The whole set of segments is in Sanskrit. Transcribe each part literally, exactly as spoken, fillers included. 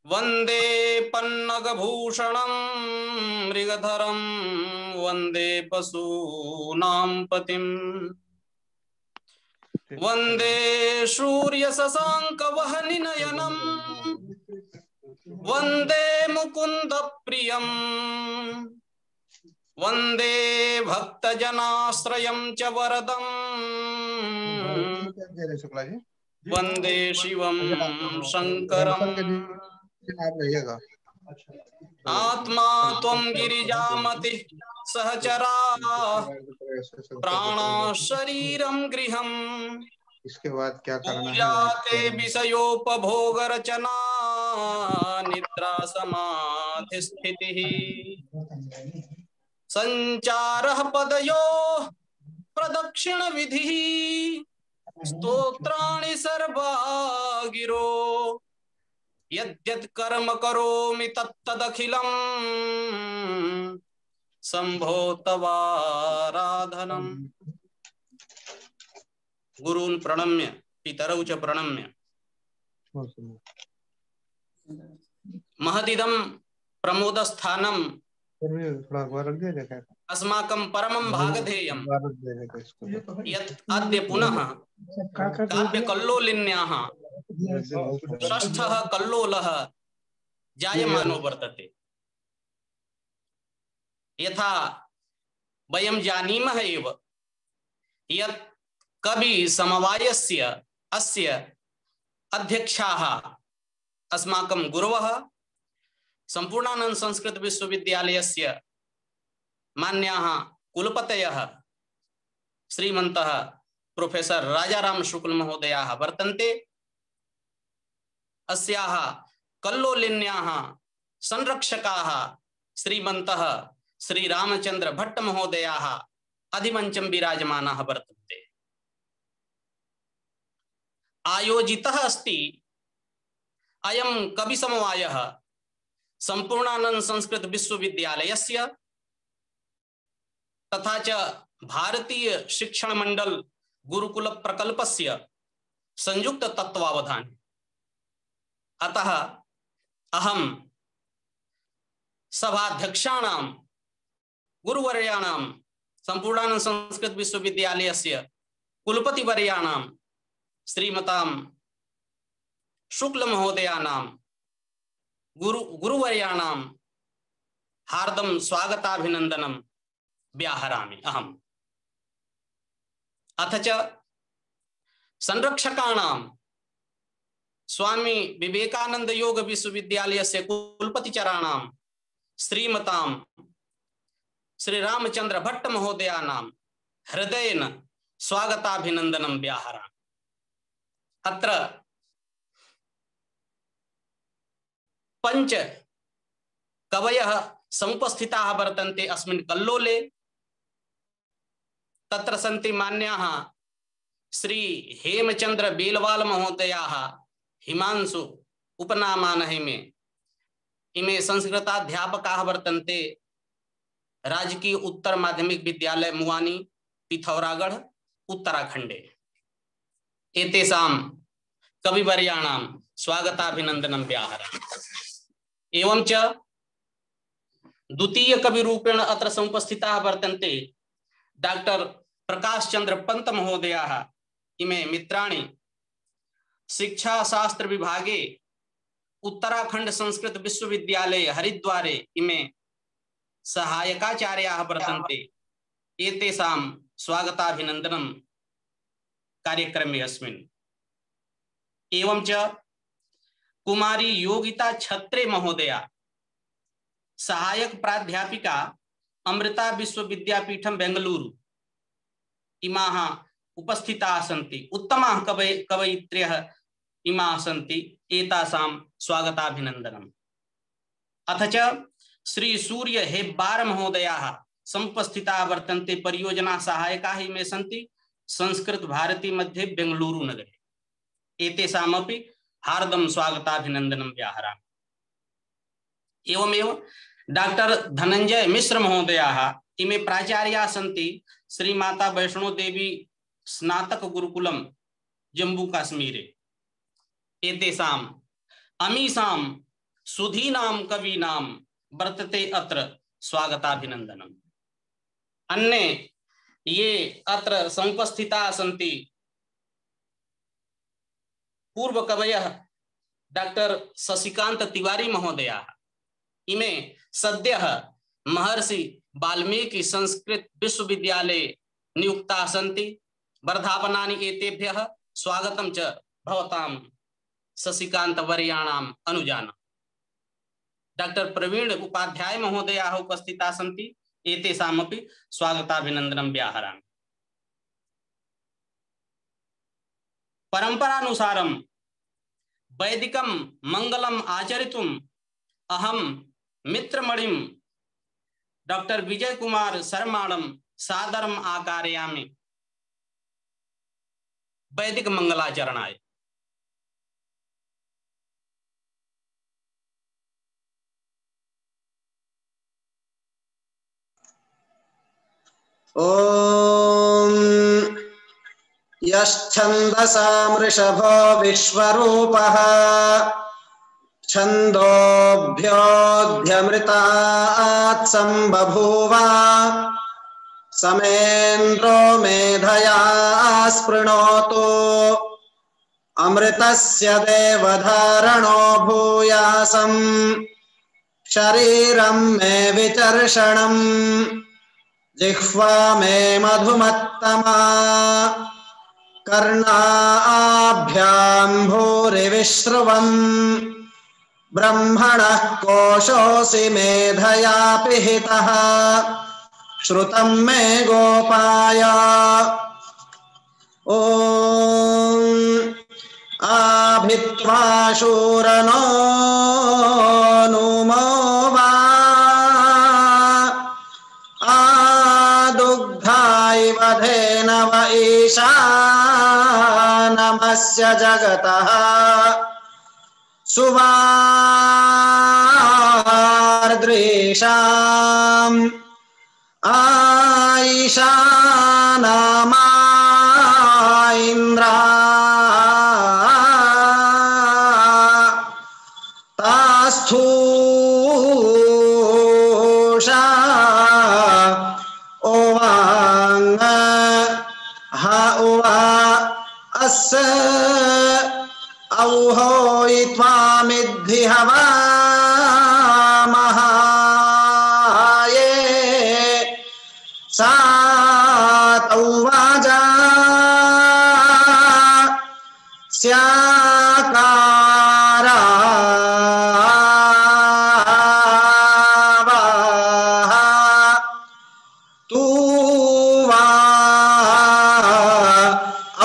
वंदे पन्नगभूषणं मृगधरं वंदे पशूनां पतिम् वंदे सूर्यशशाङ्कवह्निनयनं वंदे मुकुन्दप्रियम् वंदे भक्तजनाश्रयं च वरदम् वंदे शिवं शंकरम् आत्मा त्वं गिरिजामतिः सहचरा प्राणा शरीरं गृहम्। इसके बाद क्या करना है? पूजाते विषयोपभोग रचना निद्रा समाधि स्थितिः संचारः पदयोः प्रदक्षिण विधिः स्तोत्राणि सर्वा गिरो यद्यत् कर्म करोमि तत्तदखिलं शंभो तवाराधनम्। गुरून् प्रणम्य पितरौ च प्रणम्य महदिदं प्रमोदस्थानं अस्माकं परमं भागधेयं यत् अद्य पुनः काव्यकल्लोलिन्याः षष्ठः कल्लोलः जायमानो वर्तते। यथा वयं जानीमः एव यत् कवि समवायस्य अस्य अध्यक्षाः अस्माकं गुरवः संपूर्णानंद संस्कृत विश्वविद्यालयस्य मान्याः कुलपतयः श्रीमन्तः प्रोफेसर राजाराम शुक्ल महोदयाः वर्तन्ते। अस्याः कल्लोलिन्याः संरक्षकाः श्रीमन्तः श्री रामचंद्र भट्ट महोदयाः अधिमञ्चं विराजमानाः वर्तन्ते। आयोजितः अस्ति अयं कवि समवायः संपूर्णानंद संस्कृत विश्वविद्यालयस्य तथा च भारतीय शिक्षण मंडल गुरुकुल प्रकल्पस्य संयुक्त तत्वावधाने। अतः अहं सभाध्यक्षाणां गुरुवर्याणां संपूर्णानंद संस्कृत विश्वविद्यालयस्य कुलपतिवर्याणां श्रीमतां शुक्ल महोदयानां गुरु गुरुवर्याणां हार्दं स्वागताभिनन्दनं व्याहरामि अहम्। अथ च संरक्षकाणां स्वामी विवेकानंद योग विश्वविद्यालयस्य कुलपतिचराणां श्रीमतां श्री रामचंद्र भट्ट महोदयानां हृदयेन स्वागताभिनन्दनं व्याहरामि। अत्र पंच कवयः समुपस्थिताः वर्तन्ते अस्मिन् कल्लोले। तत्र सन्ति मान्याः श्री हेमचंद्र बेलवाल महोदयाः हिमांशु उपनामानः इमे इमे संस्कृताध्यापकाः वर्तन्ते राजकीय उत्तर माध्यमिक विद्यालय मुवानी पिथौरागढ़ उत्तराखंडे। एतेषां कविवर्याणां स्वागताभिनन्दनं व्याहरामि। एवं च द्वितीय कविरूपेण अत्र समुपस्थिताः वर्तन्ते डॉक्टर प्रकाश चंद्र पंत महोदयाः। इमे मित्राणि शिक्षा शास्त्र विभागे उत्तराखंड संस्कृत विश्वविद्यालय हरिद्वारे इमे सहायकाचार्याः वर्तन्ते। एतेषां स्वागताभिनन्दनं कार्यक्रमे अस्मिन्। एवं च कुमारी योगिता छत्रे महोदया सहायक प्राध्यापिका अमृता विश्वविद्यापीठम बेंगलुरु इमाः उपस्थिताः सन्ति। उत्तमाः कवय कवयित्र्यः इमाः सन्ति। एतासां स्वागताभिनन्दनम्। अथ च श्री सूर्य हेब्बार महोदयाः समुपस्थिताः वर्तन्ते। परियोजना सहायकाः इमे सन्ति संस्कृत भारती मध्ये बेंगलुरु नगरे। एतेषामपि हार्दं स्वागताभिनन्दनं व्याहरामि। एवमेव डॉक्टर धनंजय मिश्र महोदयाः इमे प्राचार्याः सन्ति श्री माता वैष्णो देवी स्नातक गुरुकुलम जम्मू काश्मीरे। एतेषां अमीषां सुधीनां कवीनां वर्तते अत्र स्वागताभिनन्दनम्। अन्ये ये अत्र समुपस्थिताः सन्ति पूर्वकवयः डॉक्टर शशिकांत तिवारी महोदयाः, इमे सद्यः महर्षि वाल्मीकि संस्कृत विश्वविद्यालये नियुक्ताः सन्ति। वर्धापनानि एतेभ्यः स्वागतं च भवतां शशिकांत वर्याणाम् अनुजान। डॉक्टर प्रवीण उपाध्याय महोदयाः उपस्थिताः सन्ति, एतेषामपि स्वागताभिनन्दनं व्याहरामि। परंपरानुसारं वैदिकं मंगलम् आचरितुम् अहं मित्रमणिं डॉक्टर विजय कुमार शर्माणं सादरम् आकारयामि वैदिक मंगलाचरणाय। ओम यश्छन्दसां वृषभो विश्वरूपः छन्दोभ्योऽध्यमृतात् सम्बभूव समेन्द्रो मेधया स्पृणोतु अमृतस्य देवधारणो भूयासम् शरीरं मे विचर्षणम् जिह्वा मे मधुमत्तमा कर्णाभ्यां भूरिविश्रुवम् ब्रह्मणः कोशोऽसि मेधया पिहितः श्रुतं मे गोपाय। ॐ आभित्वा शूरनो नुमो वा आदुग्धाइव धेनव ईशानमस्य जगतः सुवार्द्रीशाम् आईशानमा इन्द्रा तास्थूषा ओवांग हा उवा अस औहोयित्वामिद्धि हवा महाये सातौवाजा स्याकारा तू वा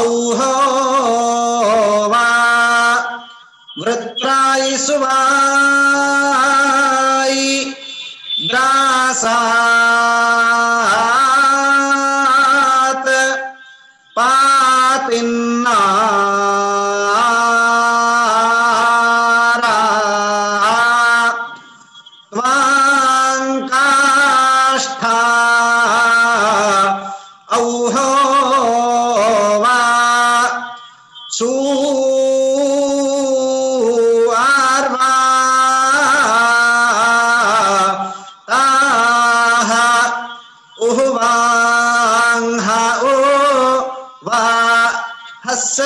औहो वा वृत्रायि सुवायि ग्रासात् पातिन्नारा त्वाङ्काष्ठा औहो वा सुआर्वा ताः उह्वाङ्हा उ वा हस्स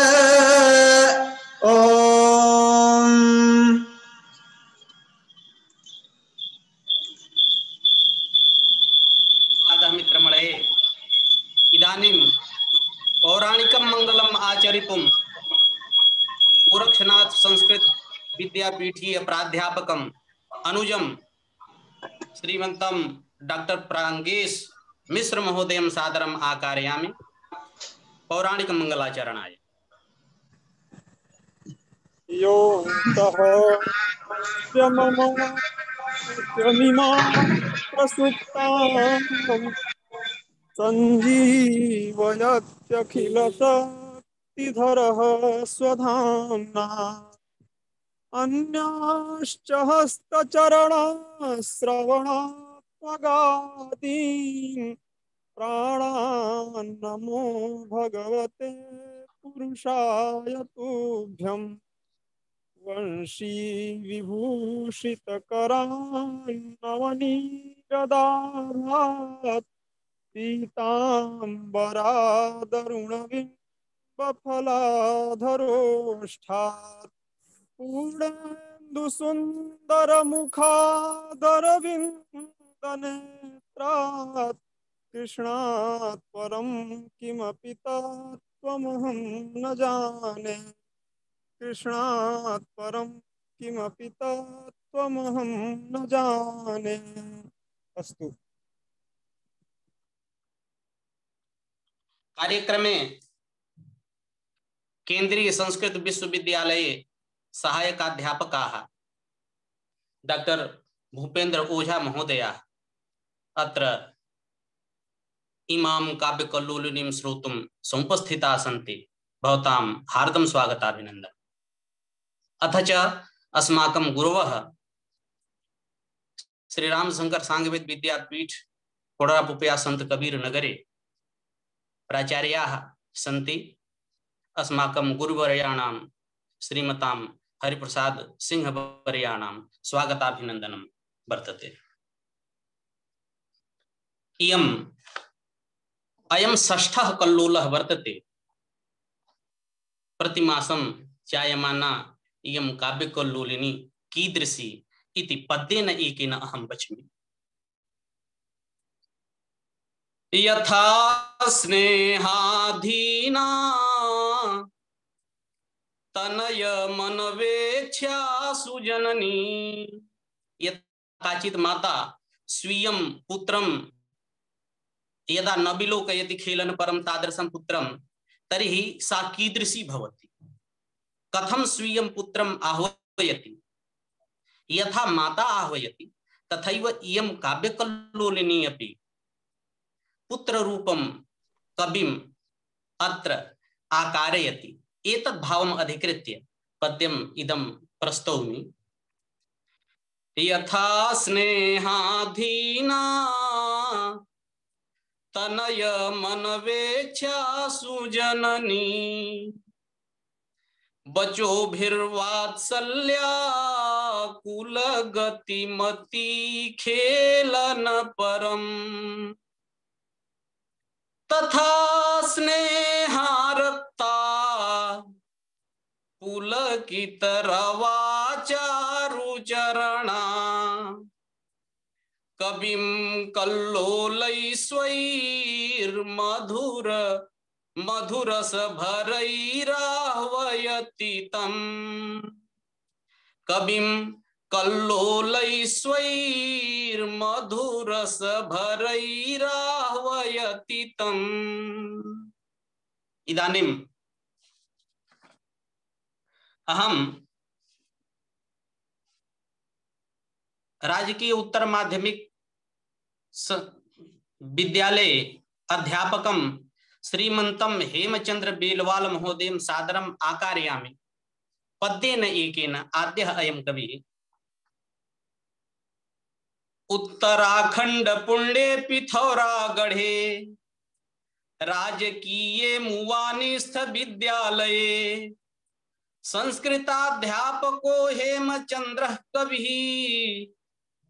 ओम। मित्रमणे इदानीं पौराणिकं मंगलम् आचरितुं गोरक्षनाथ संस्कृत विद्यापीठीय प्राध्यापकम् अनुजं श्रीमन्तं डॉक्टर प्रांगेश मिश्र महोदयं सादरम् आकारयामि पौराणिक मंगलाचरणाय। यो तः यमिमां प्रसुप्तां सञ्जीवयत्यखिलशक्तिधरः स्वधाम्ना अन्याश्च हस्तचरणश्रवणात्मगादीन् प्राणान् नमो भगवते पुरुषाय तुभ्यम्। वंशी विभूषितकरान्नवनीरदाभात् पीताम्बरादरुणबिम्बफलाधरोष्ठात् पूर्णेन्दुसुन्दरमुखादरविन्दनेत्रात् कृष्णात् परं किमपि तत्त्वमहं न जाने कृष्णात् परं किमपि तत्त्वमहं न जाने। अस्तु। कार्यक्रमे केंद्रीय संस्कृत विश्वविद्यालये सहायकाध्यापकाः डॉक्टर भूपेन्द्र ओझा महोदयाः अत्र इमां काव्यकल्लोलिनीं श्रोतुं समुपस्थिताः सन्ति। भवतां हार्दं स्वागताभिनन्दनम्। अथ च अस्माकं गुरवः श्री रामशंकर सांगवेद विद्यापीठ कोडरापुपया संत कबीर नगरे प्राचार्याः सन्ति। अस्माकं गुरुवर्याणां श्रीमतां हरिप्रसाद सिंह वर्याणां स्वागताभिनन्दनं वर्तते। इयम् अयं षष्ठः कल्लोलः वर्तते। प्रतिमासं जायमाना इयं काव्यकल्लोलिनी कीदृशी इति पद्येन एकेन अहं वच्मि। यथा स्नेहाधीना तनय मनवेच्छा सुजननी। यत्काचित् माता स्वीयं पुत्रं यदा न विलोकयति खेलन परं तादृशं पुत्रं तर्हि सा कीदृशी भवति, कथं स्वीयं पुत्रम् आह्वयति। यथा माता आह्वयति तथैव इयं काव्यकल्लोलिनी अपि पुत्ररूपं कविम् अत्र आकारयति। एतद् भावम् अधिकृत्य पद्यम् इदं प्रस्तौमि। यथा स्नेहाधीना तनय मनवेच्छा सुजननी बचोभिर्वात्सल्याकुलगतिमती खेलन परम् तथा स्नेहारक्ता पुलकितरवाचारुचरणा कविं कल्लोलैस्वैर्मधुर मधुरसभरैराह्वयति तम्। कविं कल्लोलैस्वैर्मधुरसभरैराह्वयति तम्। इदानीम् अहं राजकीय उत्तर माध्यमिक विद्यालय अध्यापकं श्रीमन्तं हेमचंद्र बेलवाल महोदयं सादरम् आकारयामि। पद्येन एकेन आद्यः अयं कविः। उत्तराखंड पुण्ये पिथौरागढ़े राजकीय मुवानिस्थ विद्यालये संस्कृताध्यापको हेमचंद्र कविः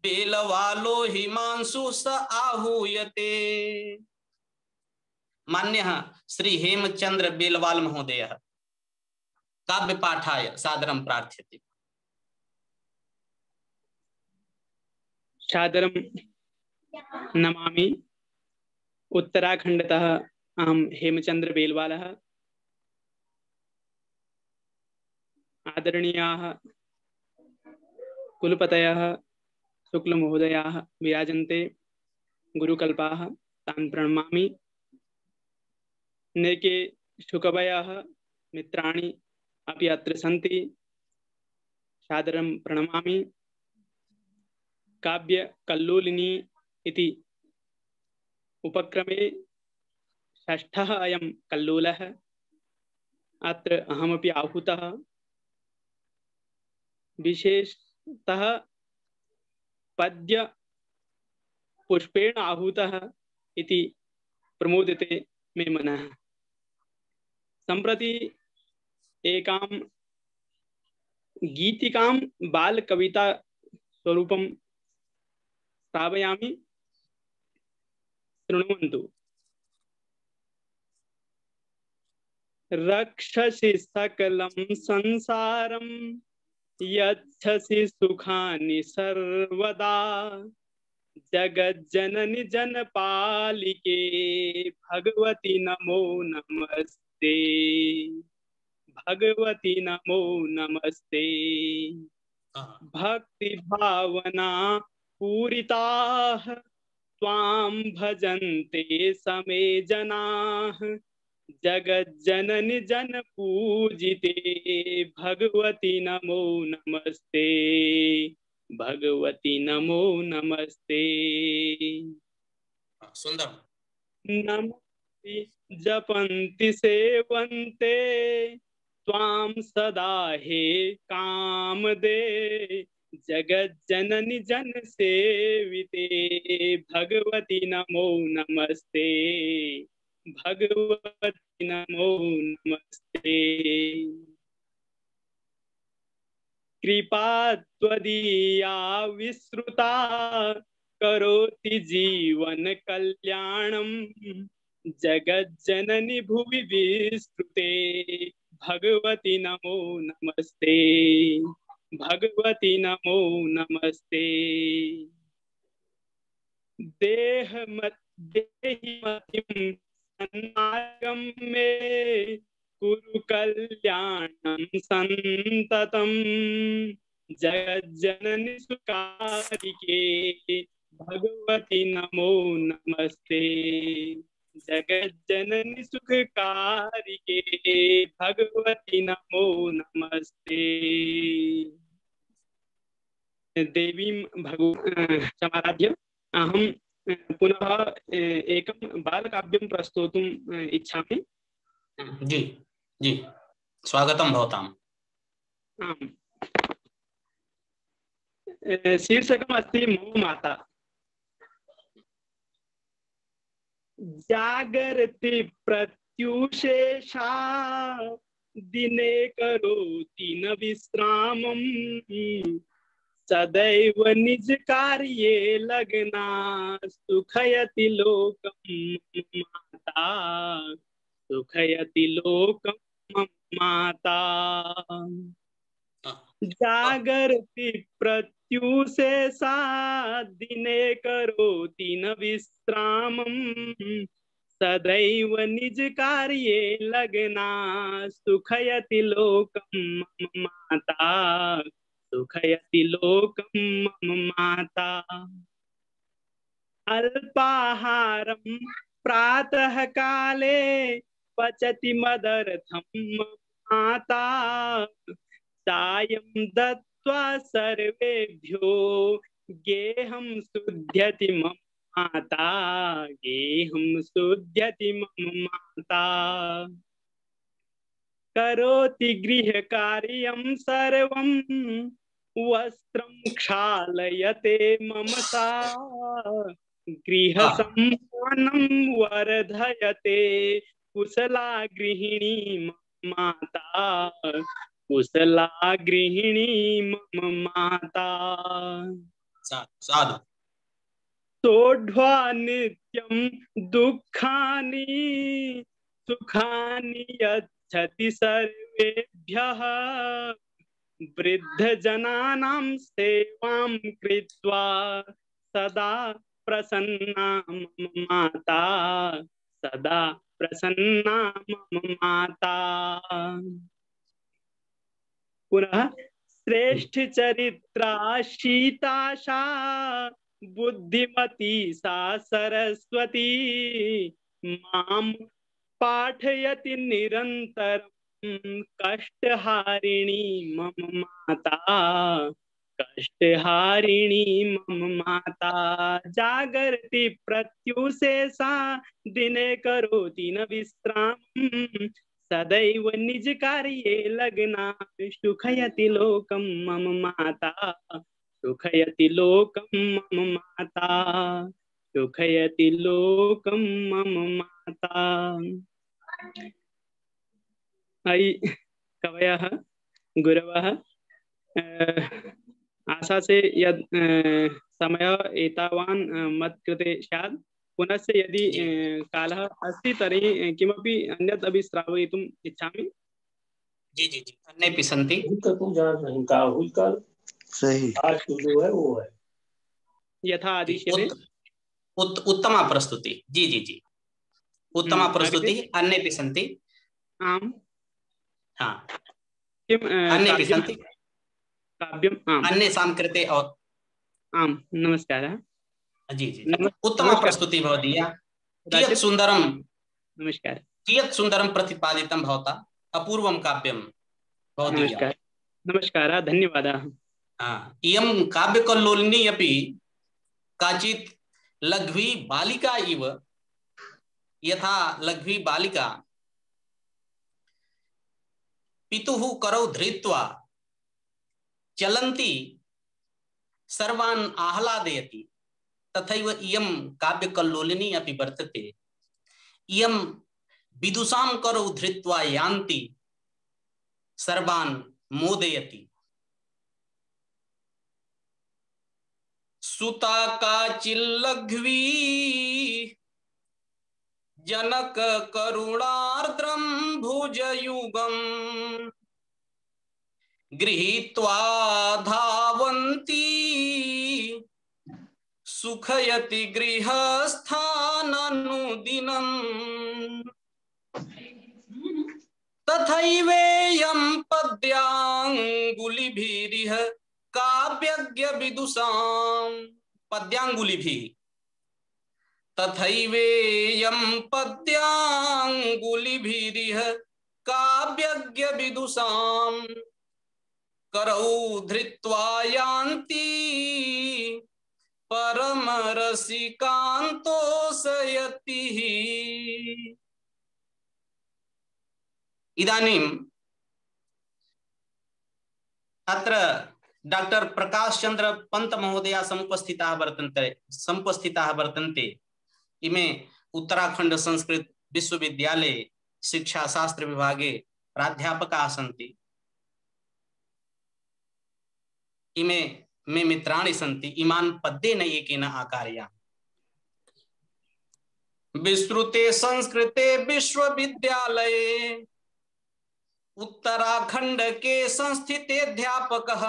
बेलवालो हिमांशु स आहूयते। मान्यः श्री हेमचंद्र बेलवाल महोदयः काव्यपाठाय सादरं प्रार्थ्यते। सादरं नमामि। उत्तराखंडतः अहं हेमचंद्र बेलवालः। आदरणीयाः कुलपतयः शुक्लमहोदयाः विराजन्ते गुरुकल्पाः, तान् प्रणमामि। नैके शुकवयः मित्राणि अपि अत्र सन्ति, सादरं प्रणमामि। काव्यकल्लोलिनी इति उपक्रमे षष्ठः अयं कल्लोलः। अत्र अहमपि आहूतः। विशेषतः पद्य पुष्पेण आहूतः इति प्रमोदते मे मनः। सम्प्रति एकां गीतिकां बालकविता स्वरूपं श्रावयामि, शृण्वन्तु। रक्षसि सकलं संसारं यच्छसि सुखानि सर्वदा, जगज्जननि जनपालिके भगवति नमो नमस्ते, भगवति नमो नमस्ते। भक्ति भावना पूरिताः त्वां भजन्ते समे जनाः, जगज्जननि जन पूजिते भगवति नमो नमस्ते, भगवति नमो नमस्ते। सुंदर। नमस्ते जपन्ति सेवन्ते त्वां सदा हे कामदे, जगज्जननि जन सेविते भगवति नमो नमस्ते, भगवति नमो नमस्ते। कृपा त्वदीया विश्रुता करोति जीवन कल्याणं, जगज्जननि भुवि विस्तृते भगवति नमो नमस्ते, भगवति नमो नमस्ते। देह मत देहि मतिं सन्मार्गं मे कुरु कल्याणं संततं, जगज्जननि सुकारिके भगवति नमो नमस्ते, जगज्जननि सुखकारिके भगवति नमो नमस्ते। देवीं भगव समाराध्य अहं पुनः एकं बालकाव्यं प्रस्तोतुम् इच्छामि। जी जी, स्वागतं भवताम्। आम्, शीर्षकम् अस्ति मम माता। जागर्ति प्रत्युषेषा दिने करोति न विश्रामं, सदैव निज कार्ये लग्ना सुखयति लोकं माता, सुखयति लोकं माता। जागर्ति प्रत्युषेषा दिने करोति न विश्रामं, सदैव निज कार्ये लग्ना सुखयति लोकं माता, सुखयति लोकं माता। अल्पाहारं प्रातः काले पचति मदर्थं माता, सायं दत्त्वा सर्वेभ्यो गेहं शुध्यति मम माता, गेहं शुध्यति मम माता। करोति गृहकार्यं सर्वं वस्त्रं क्षालयते मम सा, गृहसम्मानं वर्धयते कुशला गृहिणी मम माता, कुशला गृहिणी मम माता। साधु। सोढ्वा नित्यं दुःखानि सुखानि यच्छति सर्वेभ्यः, वृद्धजनानां सेवां कृत्वा सदा प्रसन्ना मम माता, सदा प्रसन्ना मम माता। पुनः श्रेष्ठ चरित्रा शीताशा बुद्धिमती सा सरस्वती, मां पाठयति निरन्तरं कष्टहारिणी मम माता, कष्टहारिणी मम माता। जागर्ति प्रत्युषेषा दिने करोति न विश्रामं, सदैव निज कार्ये लग्ना सुखयति लोकं मम माता, सुखयति लोकं मम माता, सुखयति लोकं मम माता। अयि कवयः गुरवः आशा से यद समय एतावान् मत्कृते स्यात् पुनश्च यदि कालः अस्ति तर्हि किमपि अन्यत् अपि श्रावयितुम् इच्छामि। जी जी जी अन्येऽपि सन्ति। सही आज तो जो है वो है यथा आदिश्यते। उत, उत्तमा प्रस्तुति। जी जी जी उत्तमा प्रस्तुति। अन्येऽपि सन्ति। आम् हाँ किं अन्येऽपि सन्ति काव्यम् आम् अन्येषां कृते। और आम् नमस्कारः। जी जी उत्तमा प्रस्तुति भवदीया। कियत् सुन्दरं नमस्कार कियत् सुन्दरं प्रतिपादितं भवता। अपूर्वं काव्यं भवदीया। नमस्कार नमस्कारः धन्यवादाः। हाँ इयं काव्यकल्लोलिनी अपि काचित् लघ्वी बालिका इव। यथा लघ्वी बालिका पितुः करौ धृत्वा चलन्ती सर्वान् आह्लादयति तथैव इयं काव्यकल्लोलिनी अपि वर्तते। इयं विदुषां करौ धृत्वा यान्ति सर्वान् मोदयति। सुता काचिल्लघ्वी जनक करुणार्द्रं भुजयुगम् गृहीत्वा धावन्ती सुखयति गृहस्थाननुदिनम् तथैवेयं पद्याङ्गुलिभिरिह काव्यज्ञ विदुषां पद्यांगुलिभिः तथैवेयं पद्यांगुलिभिरिह काव्यज्ञ विदुषां करौ धृत्वा यान्ति परमरसिकान्तोषयतिः। इदानीम् अत्र डॉक्टर प्रकाश चंद्र पंत महोदया समुपस्थिताः वर्तन्ते समुपस्थिताः वर्तन्ते। इमे उत्तराखंड संस्कृत विश्वविद्यालये शिक्षा शास्त्र विभागे प्राध्यापकाः सन्ति। इमे मे मित्राणि सन्ति। इमान् पद्येन एकेन आकारया विस्तृते संस्कृते विश्वविद्यालये उत्तराखंड के संस्थिते अध्यापकः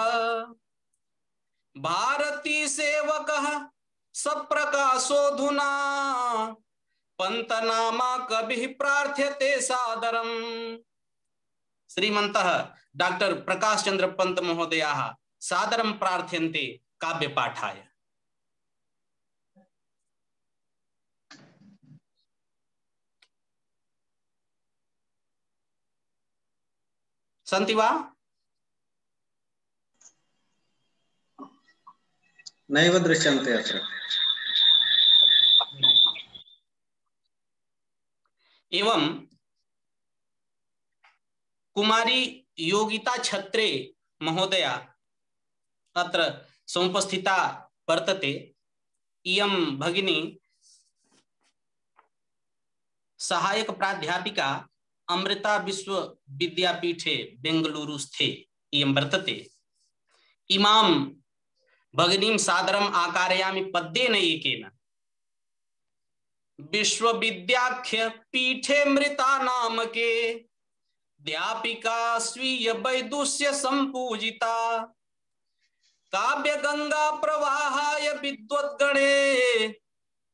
भारती सेवकः सप्रकाशोऽधुना पंतनामा कविः प्रार्थ्यते सादरम्। श्रीमन्तः डॉक्टर प्रकाश चंद्र पंत महोदयाः सादरं प्रार्थ्यन्ते काव्यपाठाय। सन्ति वा? नैव दृश्यन्ते अत्र। एवं कुमारी योगिता छत्रे महोदया अत्र समुपस्थिता वर्तते। इयं भगिनी सहायक प्राध्यापिका अमृता विश्वविद्यापीठे बेंगलुरुस्थे इयं वर्तते। इमां भगिनीं सादरम् आकारयामि पद्येन एकेन। विश्वविद्याख्य पीठे मृता नामके अध्यापिका स्वीय वैदुष्य संपूजिता काव्य गंगा प्रवाहाय विद्वद्गणे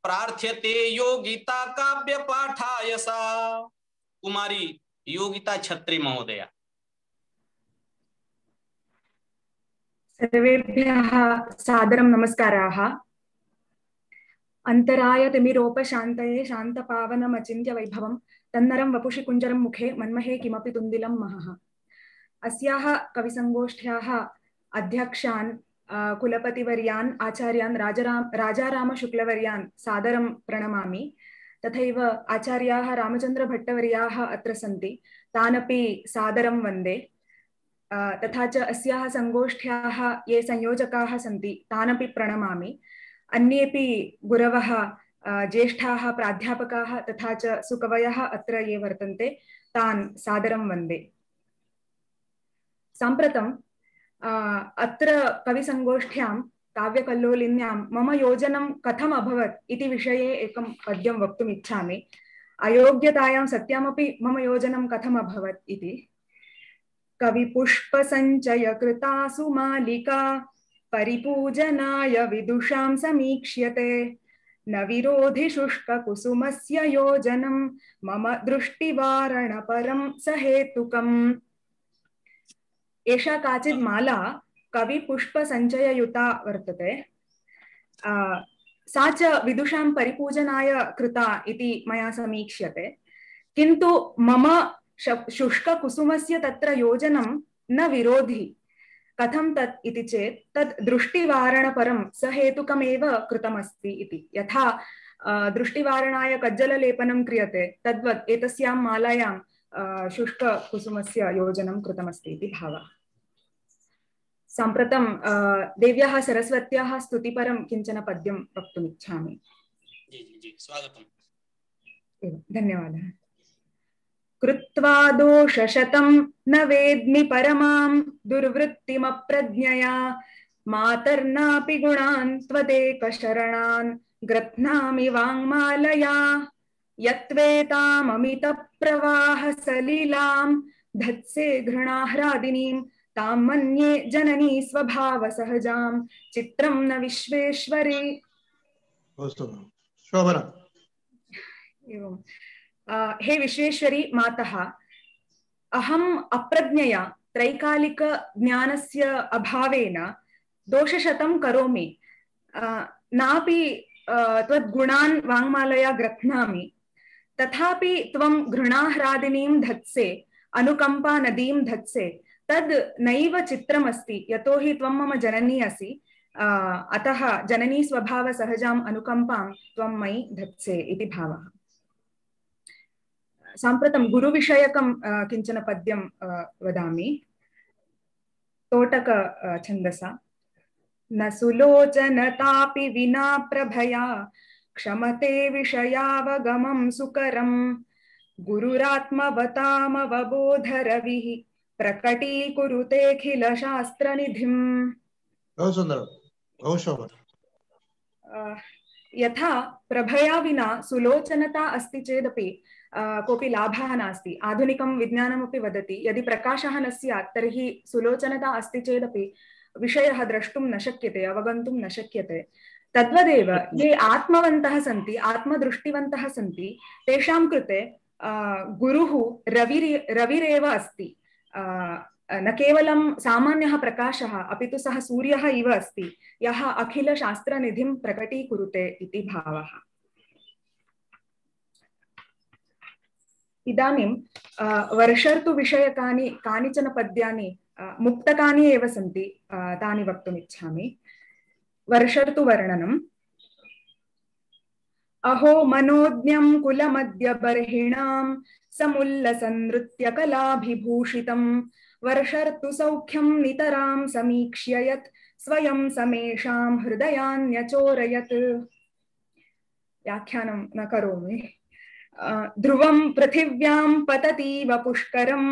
प्रार्थ्यते योगिता काव्य पाठाय सा। कुमारी योगिता छत्री महोदया। सर्वेभ्यः सादरं नमस्काराः। अंतराय तिमिरोपशान्तये शान्तपावनमचिन्त्य वैभवं तन्नरं वपुषि कुञ्जरं मुखे मन्महे किमपि तुन्दिलं महः। अस्याः कविसङ्गोष्ठ्याः अध्यक्षान् कुलपतिवर्यान् आचार्यान् राजाराम राजारामशुक्लवर्यान् सादरं प्रणमामि। तथैव आचार्याः रामचन्द्रभट्टवर्याः अत्र सन्ति, तानपि सादरं वन्दे। तथा च अस्याः सङ्गोष्ठ्याः ये संयोजकाः सन्ति तानपि प्रणमामि। अन्येपि गुरवः ज्येष्ठाः प्राध्यापकाः तथा च सुकवयः अत्र ये वर्तन्ते तान् सादरं वन्दे। साम्प्रतं अत्र कविसङ्गोष्ठ्यां काव्यकल्लोलिन्यां मम योजनं कथम् अभवत् इति विषये एकं पद्यं वक्तुम् इच्छामि। अयोग्यतायां सत्यामपि मम योजनं कथम् अभवत् इति। कविपुष्पसञ्चयकृतासु मालिका परिपूजनाय विदुषां समीक्ष्यते न विरोधि शुष्ककुसुमस्य योजनं मम दृष्टिवारणपरं सहेतुकम्। एषा काचित् माला कविपुष्पसञ्चययुता वर्तते। सा च विदुषां परिपूजनाय कृता इति मया समीक्ष्यते, किन्तु मम शुष्ककुसुमस्य तत्र योजनं न विरोधि। कथं तत् इति चेत् तत् दृष्टिवारणपरं सहेतुकमेव कृतमस्ति इति। यथा दृष्टिवारणाय कज्जललेपनं क्रियते तद्वत् एतस्यां मालायां शुष्ककुसुमस्य योजनं कृतमस्ति इति भावः। साम्प्रतं देव्याः सरस्वत्याः स्तुतिपरं किञ्चन पद्यं वक्तुम् इच्छामि। जी जी जी स्वागतम्। धन्यवादः। कृत्वा दोषशतं न वेद्मि परमां दुर्वृत्तिमप्रज्ञया मातर्नापि गुणान् त्वदेकशरणान् ग्रथ्नामि वाङ्मालया यत्वेताममितप्रवाहसलिलां धत्से घृणाह्रादिनीं तां मन्ये जननी स्वभावसहजां चित्रं न विश्वेश्वरी। एवं हे विश्वेश्वरी मातः, अहम् अप्रज्ञया त्रैकालिक ज्ञानस्य अभावेन दोषशतं करोमि, नापि त्वद्गुणान् वाङ्मालया ग्रथ्नामि, तथापि त्वं घृणाह्रादिनीं धत्से अनुकम्पा नदीं धत्से तद् नैव चित्रमस्ति, यतोहि त्वं मम जननी असि, अतः जननी स्वभावसहजाम् अनुकम्पां त्वं मयि धत्से इति भावः। साम्प्रतं गुरुविषयकं किञ्चन पद्यं वदामि तोटक छन्दसा। न सुलोचनतापि विना प्रभया क्षमते विषयावगमं सुकरं गुरुरात्मवतामवबोधरविः प्रकटीकुरुतेऽखिल शास्त्रनिधिम्। बहु सुन्दरं, बहु शोभनं। यथा प्रभया विना सुलोचनता अस्ति चेदपि कोऽपि लाभः नास्ति। आधुनिकं विज्ञानमपि वदति यदि प्रकाशः न स्यात् तर्हि सुलोचनता अस्ति चेदपि विषयः द्रष्टुं न शक्यते, अवगन्तुं न शक्यते। तद्वदेव ये आत्मवन्तः सन्ति, आत्मदृष्टिवन्तः सन्ति, तेषां कृते गुरुः रविर् रविरेव अस्ति। न केवलं सामान्यः प्रकाशः अपि तु सः सूर्यः इव अस्ति, यः अखिलशास्त्रनिधिं प्रकटीकुरुते इति भावः। इदानीं वर्षर्तुविषयकानि कानिचन पद्यानि मुक्तकानि एव सन्ति, तानि वक्तुम् इच्छामि। वर्षर्तुवर्णनम्। अहो मनोज्ञं कुलमद्यबर्हिणां समुल्लसनृत्यकलाभिभूषितं वर्षर्तुसौख्यं नितरां समीक्ष्य यत् स्वयं समेषां हृदयान्यचोरयत्। व्याख्यानं न करोमि। ध्रुवं पृथिव्यां पततीव पुष्करं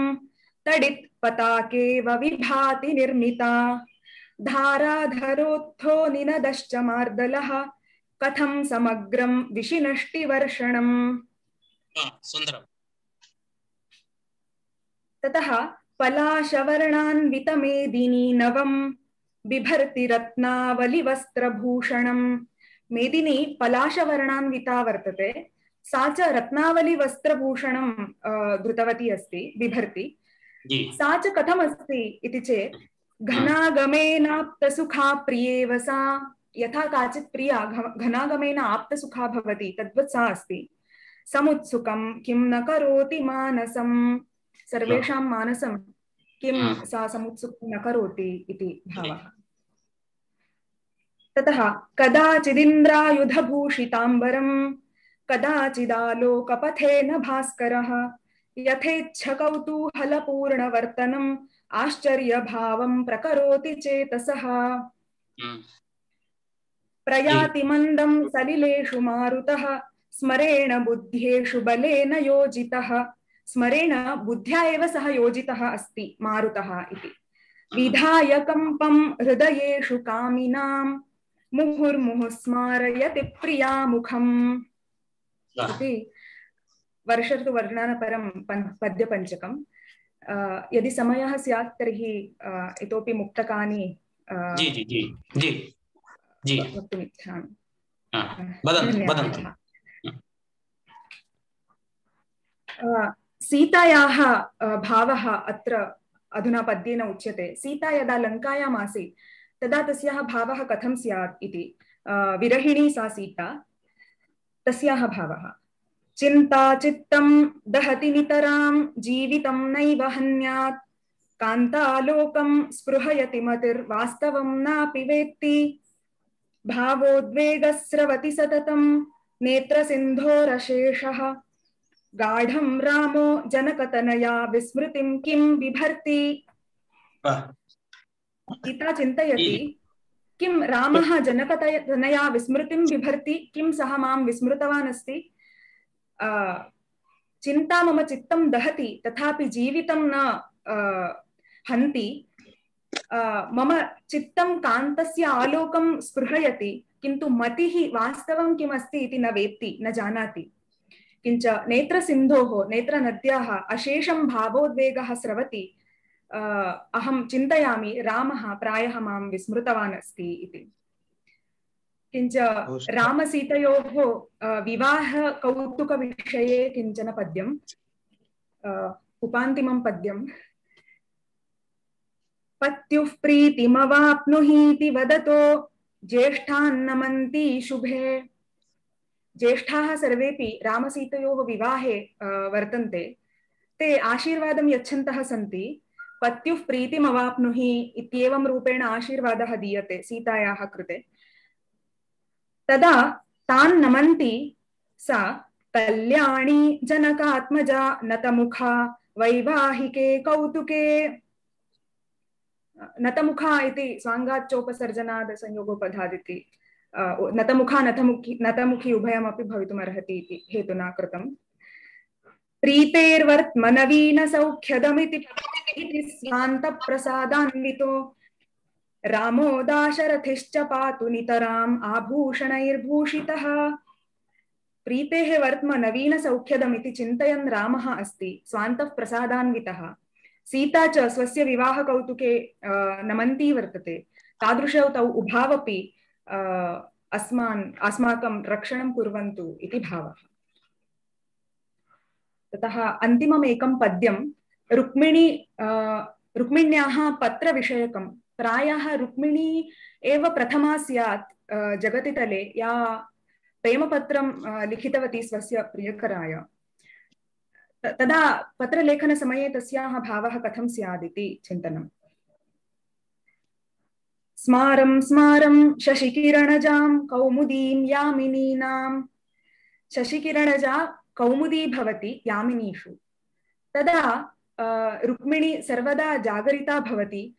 तडित् पताकेव विभाति निर्मिता धाराधरोत्थो निनदश्च मार्दलः कथं समग्रं विशिनष्टिवर्षणम्। सुन्दरम्। ततः पलाशवर्णान्वितमेदिनी नवं बिभर्ति रत्नावलिवस्त्रभूषणम्। मेदिनी पलाशवर्णान्विता वर्तते, सा च रत्नावलिवस्त्रभूषणं धृतवती अस्ति, बिभर्ति। सा च कथमस्ति इति चेत् घनागमेनाप्तसुखा प्रियेव सा। यथा काचित् प्रिया घनागमेन आप्तसुखा भवति तद्वत् सा अस्ति। समुत्सुकं किं न करोति मानसं, सर्वेषां मानसं किं सा समुत्सुकं न करोति इति भावः। ततः कदाचिदिन्द्रायुधभूषिताम्बरं कदाचिदालोकपथेन भास्करः यथेच्छकौतूहलपूर्णवर्तनम् आश्चर्यभावं प्रकरोति चेतसः। प्रयाति मन्दं सलिलेषु मारुतः स्मरेण बुद्ध्येषु बलेन योजितः। स्मरेण बुद्ध्या एव सः योजितः अस्ति मारुतः इति। विधाय कंपं हृदयेषु कामिनां मुहुर्मुहुः स्मारयति प्रियामुखम् इति वर्ष ऋतुवर्णनपरं पद्यपञ्चकम्। यदि समयः स्यात् तर्हि इतोपि मुक्तकानि जी जी जी जी जी वक्तुम् इच्छामि। धन्यवादः। सीतायाः भावः अत्र अधुना पद्येन उच्यते। सीता यदा लङ्कायाम् आसीत् तदा तस्याः भावः कथं स्यात् इति। विरहिणी सा सीता, तस्याः भावः चिन्ता चित्तं दहति नितरां जीवितं नैव हन्यात् कान्तालोकं स्पृहयति मतिर्वास्तवं नापि वेत्ति भावोद्वेगस्रवति सततं नेत्रसिन्धोरशेषः गाढं रामो जनकतनया विस्मृतिं किं बिभर्ति। सीता चिन्तयति किं रामः जनकतनया विस्मृतिं बिभर्ति, किं सः मां विस्मृतवान् अस्ति। चिन्ता मम चित्तं दहति तथापि जीवितं न हन्ति। मम चित्तं कान्तस्य आलोकं स्पृहयति किन्तु मतिः वास्तवं किमस्ति इति न वेत्ति, न जानाति। किंच नेत्रसिन्धोः नेत्रनद्याः अशेषं भावोद्वेगः स्रवति। अहं चिन्तयामि रामः प्रायः मां विस्मृतवान् अस्ति इति। किंच रामसीतयोः विवाह कौतुकविषये किञ्चन पद्यम्, उपान्तिमं पद्यम्। पत्युः प्रीतिमवाप्नुहीति वदतो ज्येष्ठान्नमन्ति शुभे। ज्येष्ठाः सर्वेपि रामसीतयोः विवाहे वर्तन्ते। ते आशीर्वादं यच्छन्तः सन्ति। पत्युः प्रीतिमवाप्नुहि इत्येवं रूपेण आशीर्वादः दीयते सीतायाः कृते। तदा तान् नमन्ति सा कल्याणी जनकात्मजा नतमुखा वैवाहिके कौतुके। नतमुखा इति स्वाङ्गाच्चोपसर्जनाद् संयोगोपधादिति नतमुखा नतमुखी नतमुखी उभयमपि भवितुमर्हति इति हेतुना कृतम्। प्रीतेर्वर्त्मनवीन सौख्यदमिति स्वान्तप्रसादान्वितो रामो दाशरथिश्च पातु नितराम् आभूषणैर्भूषितः। प्रीतेः वर्त्म नवीन सौख्यदमिति चिन्तयन् रामः अस्ति स्वान्तः प्रसादान्वितः। सीता च स्वस्य विवाह कौतुके नमन्ती वर्तते। तादृशौ तौ उभावपि अस्मान् अस्माकं रक्षणं कुर्वन्तु इति भावः। ततः अन्तिमम् एकं पद्यं रुक्मिणी रुक्मिण्याः पत्रविषयकं। प्रायः रुक्मिणी एव प्रथमा स्यात् जगति तले या प्रेमपत्रं लिखितवती स्वस्य प्रियकराय। तदा पत्रलेखनसमये तस्याः भावः कथं स्यादिति चिन्तनम्। स्मारं स्मारं शशिकिरणजां कौमुदीं यामिनीनां। शशिकिरणजा कौमुदी भवति यामिनीषु। तदा रुक्मिणी सर्वदा जागरिता भवति।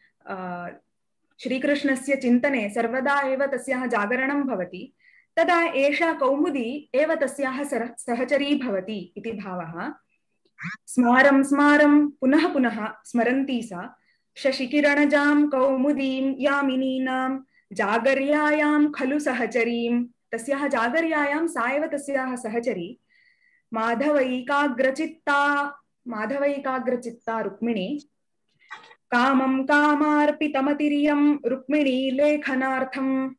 श्रीकृष्णस्य चिन्तने सर्वदा एव तस्याः जागरणं भवति। तदा एषा कौमुदी एव तस्याः सहचरी भवति इति भावः। स्मारं स्मारं पुनः पुनः स्मरन्ती सा शशिकिरणजां कौमुदीं यामिनीनां जागर्यायां खलु सहचरीं। तस्याः जागर्यायां सा एव तस्याः सहचरी। माधवैकाग्रचित्ता माधवैकाग्रचित्ता रुक्मिणी। कामं कामार्पितमतिरियं रुक्मिणी लेखनार्थं।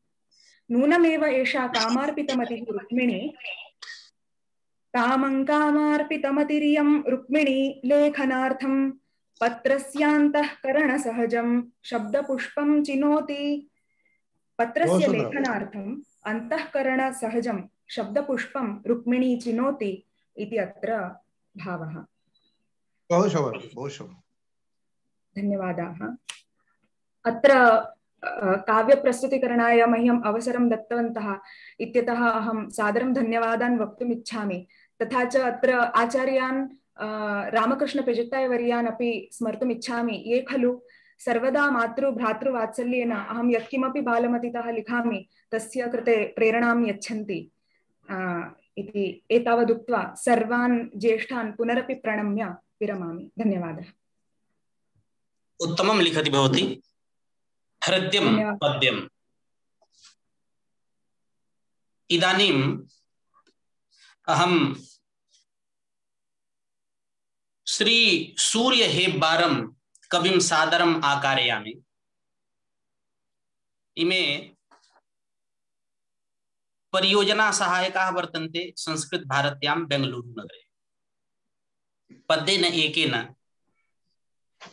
नूनमेव एषा कामार्पितमतिः रुक्मिणी। कामं कामार्पितमतिरियं रुक्मिणी लेखनार्थं पत्रस्यान्तःकरणसहजं शब्दपुष्पं चिनोति। पत्रस्य लेखनार्थम् अन्तःकरणसहजं शब्दपुष्पं रुक्मिणी चिनोति इति अत्र भावः। धन्यवादाः। अत्र काव्यप्रस्तुतिकरणाय मह्यम् अवसरं दत्तवन्तः इत्यतः अहं सादरं धन्यवादान् वक्तुम् इच्छामि। तथा च अत्र आचार्यान् रामकृष्णपेजत्तायवर्यान् अपि स्मर्तुम् इच्छामि, ये खलु सर्वदा मातृ भ्रातृवात्सल्येन अहं यत्किमपि बालमतितः लिखामि तस्य कृते प्रेरणां यच्छन्ति इति एतावदुक्त्वा सर्वान् ज्येष्ठान् पुनरपि प्रणम्य विरमामि। धन्यवादः। उत्तमं लिखति भवती। हृद्यं पद्यम्। इदानीम् अहं श्री सूर्य हेब्बारं कविं सादरम् आकारयामि। इमे परियोजना सहायकाः वर्तन्ते संस्कृत भारत्यां बेंगलुरु नगरे। पद्येन एकेन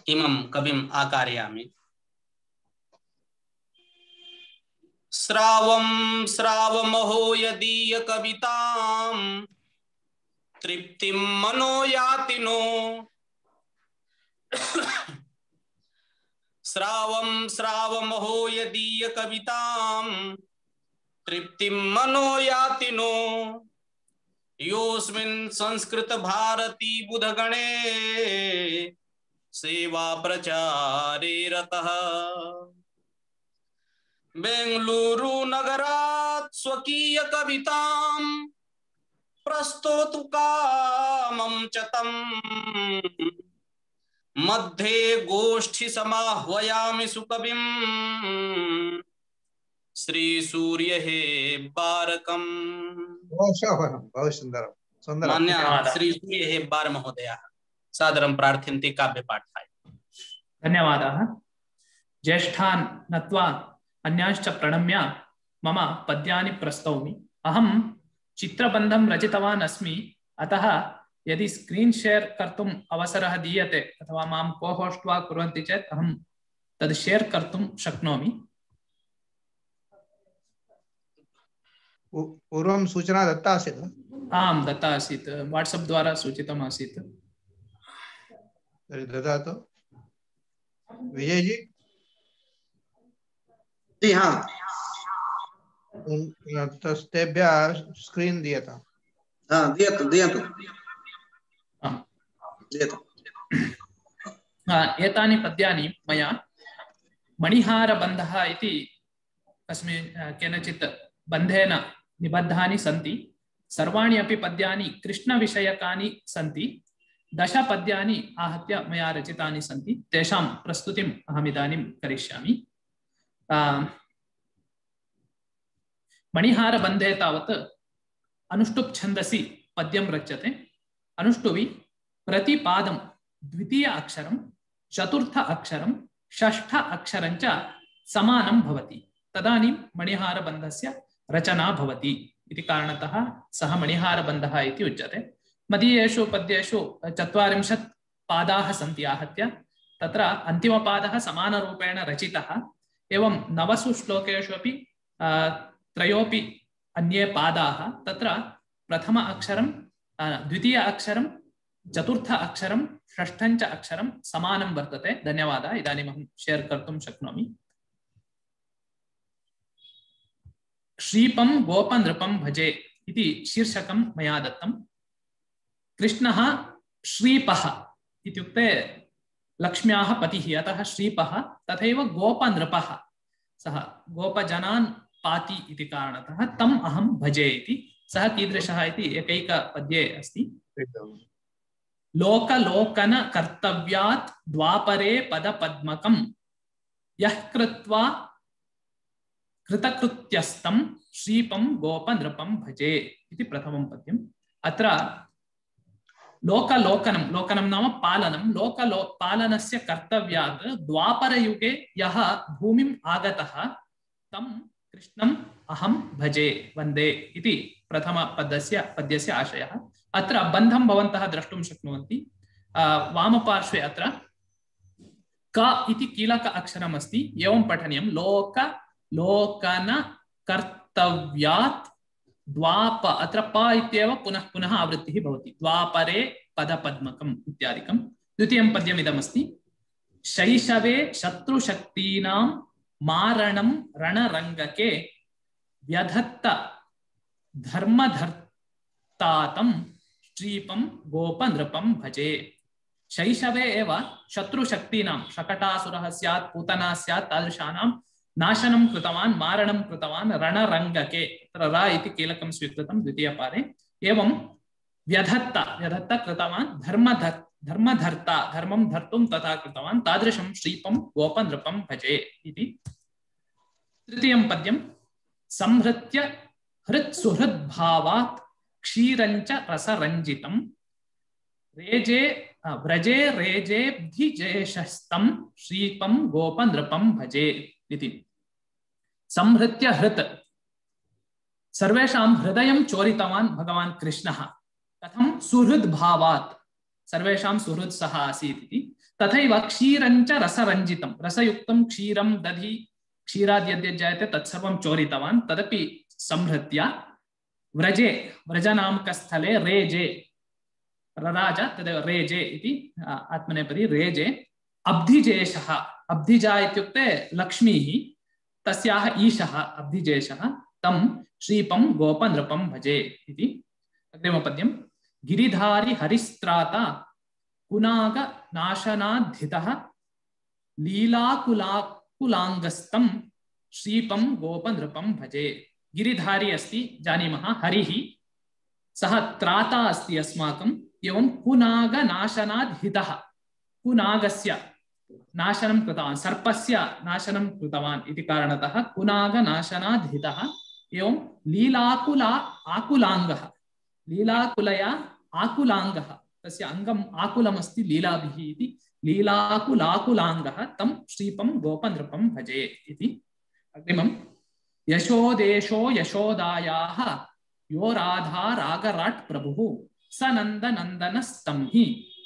इमं कविम् आकारयामि। श्रावं श्रावमहो यदीय कवितां तृप्तिं मनो याति नो। श्रावं श्रावमहो यदीय कवितां तृप्तिं मनो याति नो। योऽस्मिन् संस्कृत भारती बुधगणे सेवा प्रचारे रतः। बेंगलुरु नगरात् स्वकीय कवितां प्रस्तोतु कामं च तम्। मध्ये गोष्ठी समाह्वयामि सुकविं श्री सूर्य हेब्बारकम्। बहुत सुंदरं सुंदरं। मान्य श्री सूर्य हेब्बार महोदयाः सादरं प्रार्थयन्ति काव्यपाठाय। धन्यवादाः। ज्येष्ठान् नत्वा अन्यांश्च प्रणम्य मम पद्यानि प्रस्तौमि। अहं चित्रबन्धं रचितवान् अस्मि, अतः यदि स्क्रीन् शेर् कर्तुम् अवसरः दीयते अथवा मां को-होस्ट् वा कुर्वन्ति चेत् अहं तद् शेर् कर्तुं शक्नोमि। पूर्वं सूचना दत्ता आसीत्? आं दत्ता आसीत्, वाट्सप् द्वारा सूचितम् आसीत्। तर्हि ददातु। विजय जी। जी हाँ। तेभ्यः स्क्रीन् दीयताम्। हाँ दीयतु दीयतु दीयतु। एतानि पद्यानि मया मणिहारबन्धः इति अस्मिन् केनचित् बन्धेन निबद्धानि सन्ति। सर्वाणि अपि पद्यानि कृष्णविषयकानि सन्ति। दश पद्यानि आहत्य मया रचितानि सन्ति। तेषां प्रस्तुतिम् अहमिदानीं करिष्यामि। मणिहारबन्धे तावत् अनुष्टुप् छन्दसि पद्यं रच्यते। अनुष्टुवि प्रतिपादं द्वितीय अक्षरं, चतुर्थ अक्षरं, षष्ठ अक्षरं च समानं भवति। तदानीं मणिहारबन्धस्य रचना भवति इति कारणतः सः मणिहारबन्धः इति उच्यते। मदीयेषु पद्येषु चत्वारिंशत् पादाः सन्ति आहत्य। तत्र अन्तिमपादः समानरूपेण रचितः। एवं नवसु श्लोकेषु अपि त्रयोपि अन्ये पादाः। तत्र प्रथम अक्षरं, द्वितीय अक्षरं, चतुर्थ अक्षरं, षष्ठं च अक्षरं समानं वर्तते। धन्यवादः। इदानीम् अहं शेर् कर्तुं शक्नोमि। श्रीपं गोपनृपं भजे इति शीर्षकं मया दत्तं। कृष्णः श्रीपः इत्युक्ते लक्ष्म्याः पतिः, अतः श्रीपः। तथैव गोपनृपः, सः गोपजनान् पाति इति कारणतः तम् अहं भजे इति। सः कीदृशः इति एकैकपद्ये अस्ति। लोकलोकन कर्तव्यात् द्वापरे पदपद्मकं यः कृत्वा कृतकृत्यस्तं श्रीपं गोपनृपं भजे इति प्रथमं पद्यम्। अत्र लोकलोकनं, लोकनं नाम पालनं, लोकलो पालनस्य कर्तव्यात् द्वापरयुगे यः भूमिम् आगतः तं कृष्णम् अहं भजे वन्दे इति प्रथमपदस्य पद्यस्य आशयः। अत्र बन्धं भवन्तः द्रष्टुं शक्नुवन्ति। वामपार्श्वे अत्र क इति कीलक अक्षरम् अस्ति। एवं पठनीयं। लोक लोकन कर्तव्यात् द्वाप, अत्र प इत्येव पुनः पुनः आवृत्तिः भवति। द्वापरे पदपद्मकम् इत्यादिकं। द्वितीयं पद्यमिदमस्ति। शैशवे शत्रुशक्तीनां मारणं रणरङ्गके व्यधत्त धर्मधर्तातं श्रीपं गोपनृपं भजे। शैशवे एव शत्रुशक्तीनां, शकटासुरः स्यात्, पूतना स्यात्, तादृशानां नाशनं कृतवान्, मारणं कृतवान् रणरङ्गके। तत्र र इति कीलकं स्वीकृतं द्वितीयपादे। एवं व्यधत्त, व्यधत्त कृतवान्, धर्मधर् धर्मधर्ता धर्मं धर्तुं तथा कृतवान् तादृशं श्रीपं गोपनृपं भजे इति। तृतीयं पद्यं संहृत्य हृत् सुहृद्भावात् क्षीरञ्च रसरञ्जितं रेजे व्रजे रेजेब्धिजेशस्तं श्रीपं गोपनृपं भजे इति। संहृत्य हृत् सर्वेषां हृदयं चोरितवान् भगवान् कृष्णः। कथं? सुहृद्भावात् सर्वेषां सुहृत् सह आसीत् इति। तथैव क्षीरञ्च रसरञ्जितं रसयुक्तं क्षीरं दधि क्षीराद् यद्यद् जायते तत्सर्वं चोरितवान् तदपि संहृत्य व्रजे व्रजनामकस्थले रेजे रराज तदेव रेजे इति आत्मनेपदी रेजे अब्धिजेशः अब्धिजा इत्युक्ते लक्ष्मीः तस्याः ईशः अब्धिजेशः तं श्रीपं गोपनृपं भजे इति। अग्रिमपद्यं गिरिधारी हरिस्त्राता कुनाग नाशनाद्धितः लीलाकुलाकुलाङ्गस्तं श्रीपं गोपनृपं भजे। गिरिधारी अस्ति जानीमः हरिः सः त्राता अस्ति अस्माकम् एवं कुनाग नाशनाद् हितः कुनागस्य नाशनं कृतवान् सर्पस्य नाशनं कृतवान् इति कारणतः कुनाग नाशनाद् हितः एवं लीलाकुला आकुलाङ्गः लीलाकुलया आकुलाङ्गः तस्य अङ्गम् आकुलमस्ति लीलाभिः इति लीलाकुलाकुलाङ्गः तं श्रीपं गोपनृपं भजे इति। अग्रिमं यशोदेशो यशोदायाः यो राधा रागराट् प्रभुः स नन्दनन्दनस्तं हि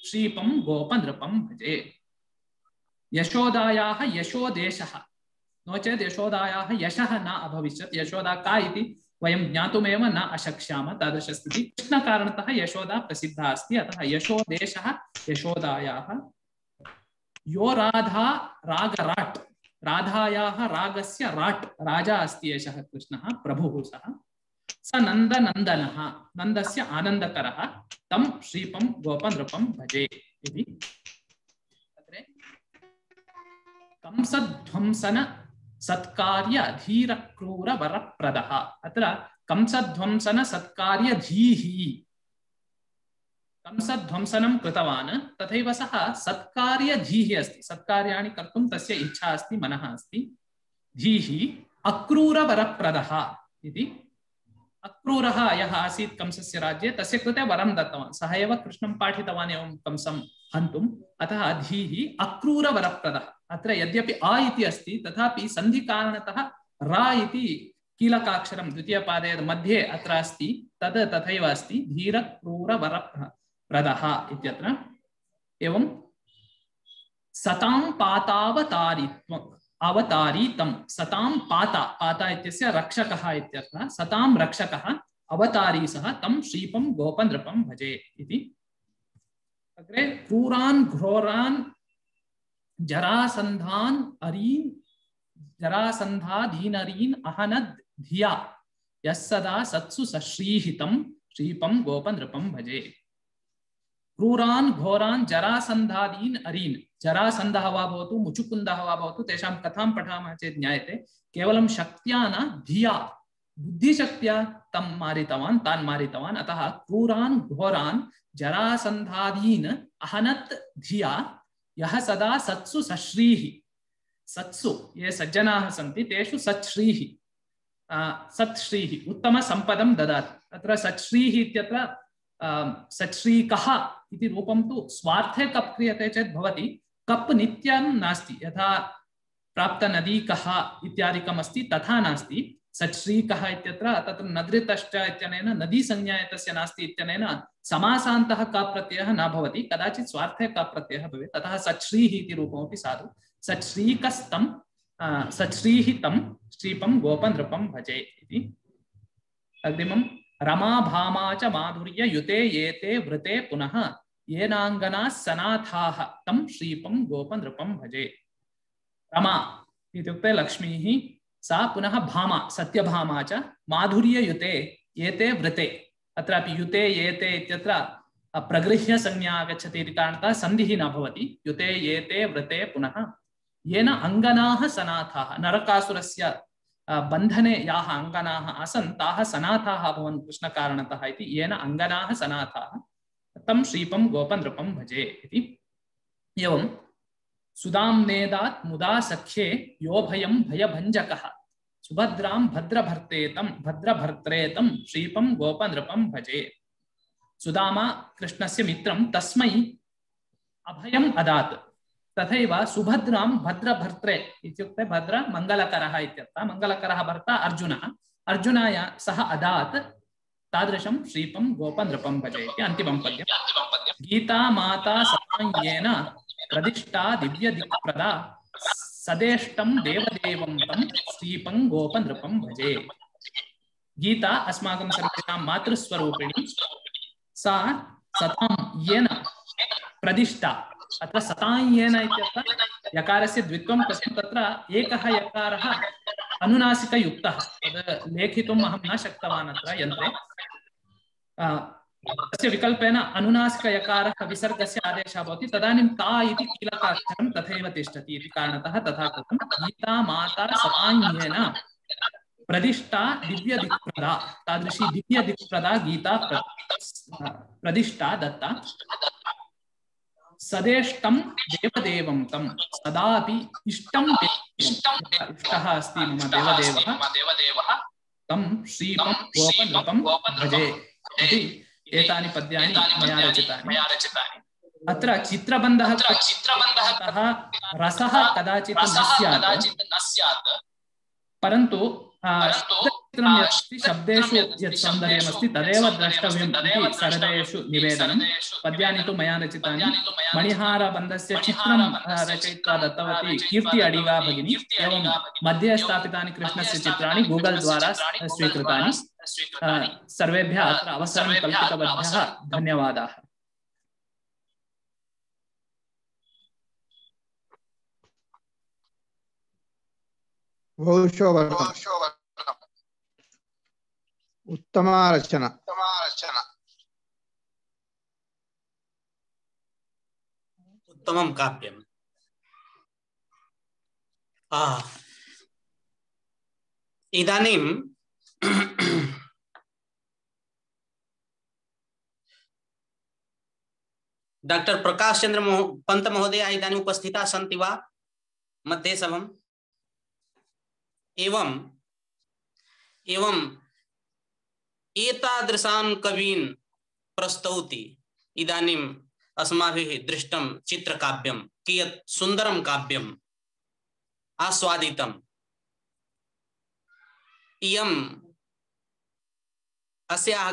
श्रीपं गोपनृपं भजे। यशोदायाः यशोदेशः नो चेत् यशोदायाः यशः न अभविष्यत्। यशोदा का इति वयं ज्ञातुमेव न अशक्ष्यामः तादृशस्थितिः। कृष्णकारणतः यशोदा प्रसिद्धा अस्ति अतः यशोदेशः यशोदायाः। यो राधा रागराट् राधायाः रागस्य राट् राजा अस्ति एषः कृष्णः प्रभुः सः स नन्दनन्दनः नन्दस्य आनन्दकरः तं श्रीपं गोपनृपं भजे इति। अत्र कंसध्वंसन सत्कार्य धीर क्रूर वरप्रदः अत्र कंसध्वंसन सत्कार्य धीः कंसध्वंसनं कृतवान् तथैव सः सत्कार्य धीः अस्ति सत्कार्याणि कर्तुं तस्य इच्छा अस्ति मनः अस्ति। धीः अक्रूर वरप्रदः इति। अक्रूरः यः आसीत् कंसस्य राज्ये तस्य कृते वरं दत्तवान् सः एव कृष्णं पाठितवान् एवं कंसं हन्तुम् अतः धीः अक्रूर वरप्रदः। अत्र यद्यपि अ इति अस्ति तथापि सन्धिकारणतः रा इति कीलकाक्षरं द्वितीयपादे मध्ये अत्र अस्ति तद् तथैव अस्ति धीर क्रूर वरप्रदः इत्यत्र। एवं सतां पातावतारित्वं अवतारीतं सतां पाता पाता इत्यस्य रक्षकः इत्यर्थः सतां रक्षकः अवतारी सः तं श्रीपं गोपनृपं भजे इति। अग्रे क्रूरान् घोरान् जरासन्धान् अरीन् जरासन्धादीनरीन् अहनद् धिया यः सदा सत्सु सश्रीहितं श्रीपं गोपनृपं भजे। क्रूरान् घोरान् जरासन्धादीन् अरीन् जरासन्धः वा भवतु मुचुकुन्दः वा भवतु तेषां कथां पठामः चेत् ज्ञायते केवलं शक्त्या न धिया बुद्धिशक्त्या तं मारितवान् तान् मारितवान्। अतः क्रूरान् घोरान् जरासन्धादीन् अहनत् धिया यः सदा सत्सु सश्रीः सत्सु ये सज्जनाः सन्ति तेषु सच्छ्रीः सत्श्रीः उत्तमसम्पदं ददाति। अत्र सच्छ्रीः इत्यत्र सच्छ्रीकः इति रूपं तु स्वार्थे कप् क्रियते चेत् भवति कप् नित्यं नास्ति यथा प्राप्तनदीकः इत्यादिकम् अस्ति तथा नास्ति। सच्छ्रीकः इत्यत्र तत्र नदृतश्च इत्यनेन नदी संज्ञा एतस्य नास्ति इत्यनेन समासान्तः कप् प्रत्ययः न भवति कदाचित् स्वार्थे कप् प्रत्ययः भवेत् अतः सच्छ्रीः इति रूपमपि साधु। सच्छ्रीकस्तं सच्छ्रीः तं श्रीपं गोपनृपं भजे इति। अग्रिमं रमा भामा च माधुर्य युते येते वृते पुनः येनाङ्गनाः सनाथाः तं श्रीपं गोपनृपं भजे। रमा इत्युक्ते लक्ष्मीः सा पुनः भामा सत्यभामा च माधुर्य युते येते वृते अत्रापि युते येते इत्यत्र प्रगृह्य संज्ञा आगच्छति इति कारणतः सन्धिः न भवति। युते येते वृते पुनः येन अङ्गनाः सनाथाः नरकासुरस्य बन्धने याः अङ्गनाः आसन् ताः सनाथाः अभवन् कृष्णकारणतः इति येन अङ्गनाः सनाथाः तं श्रीपं गोपनृपं भजे इति। एवं सुदाम्नेदात् मुदा सख्ये यो भयं भयभञ्जकः सुभद्रां भद्रभर्तेतं भद्रभर्त्रेतं श्रीपं गोपनृपं भजे। सुदामा कृष्णस्य मित्रं तस्मै अभयम् अदात्, तथैव सुभद्रां भद्रभर्त्रे इत्युक्ते भद्र मङ्गलकरः इत्यर्थः, मङ्गलकरः भर्ता अर्जुनः, अर्जुनाय सः अदात् तादृशं श्रीपं गोपनृपं भजे इति अन्तिमं पद्यं। गीता माता सहाय्येन प्रदिष्टा दिव्यदिक्प्रदा सदेष्टं देवदेवं तं श्रीपं गोपनृपं भजे। गीता अस्माकं सर्वेषां मातृस्वरूपिणी, सा सतां येन प्रदिष्टा, अत्र सतायेन इत्यर्थः यकारस्य द्वित्वं कृतं, तत्र एकः यकारः अनुनासिकयुक्तः, तद् लेखितुम् अहं न शक्तवान् अत्र यन्त्रे, तस्य विकल्पेन अनुनासिकयकारः विसर्गस्य आदेशः भवति, तदानीं ता इति कीलकाक्षरं तथैव तिष्ठति इति कारणतः तथा कृतं। गीता माता सतायेन प्रदिष्टा दिव्यदिक्प्रदा, तादृशी दिव्यदिक्प्रदा गीता प्रदिष्टा दत्ता। सदेष्टं देवदेवं तं, सदापि इष्टं इष्टः अस्ति मम देवदेवः, तं श्रीपं गोपनृपं भजे इति एतानि पद्यानि मया रचितानि। अत्र चित्रबन्धः चित्रबन्धः रसः कदाचित् न स्यात्, परन्तु शब्देषु यत् सौन्दर्यमस्ति तदेव द्रष्टव्यम् इति सरदेषु निवेदनं। पद्यानि तु मया रचितानि। मणिहारबन्धस्य चित्रं रचयित्वा दत्तवती कीर्ति अडिगा भगिनी। एवं मध्ये स्थापितानि कृष्णस्य चित्राणि गूगल द्वारा स्वीकृतानि। सर्वेभ्यः अत्र अवसरं कल्पितवद्भ्यः धन्यवादाः। उत्तमा रचना। उत्तमं काव्यम्। इदानीं डॉक्टर प्रकाश चंद्र पंत महोदय इदानीम् उपस्थिताः सन्ति वा मध्ये सभम्? एवं एवं एतादृशान् कवीन् प्रस्तौति। इदानीम् अस्माभिः दृष्टं चित्रकाव्यं, कियत् सुन्दरं काव्यम्, आस्वादितम्। इयम् अस्याः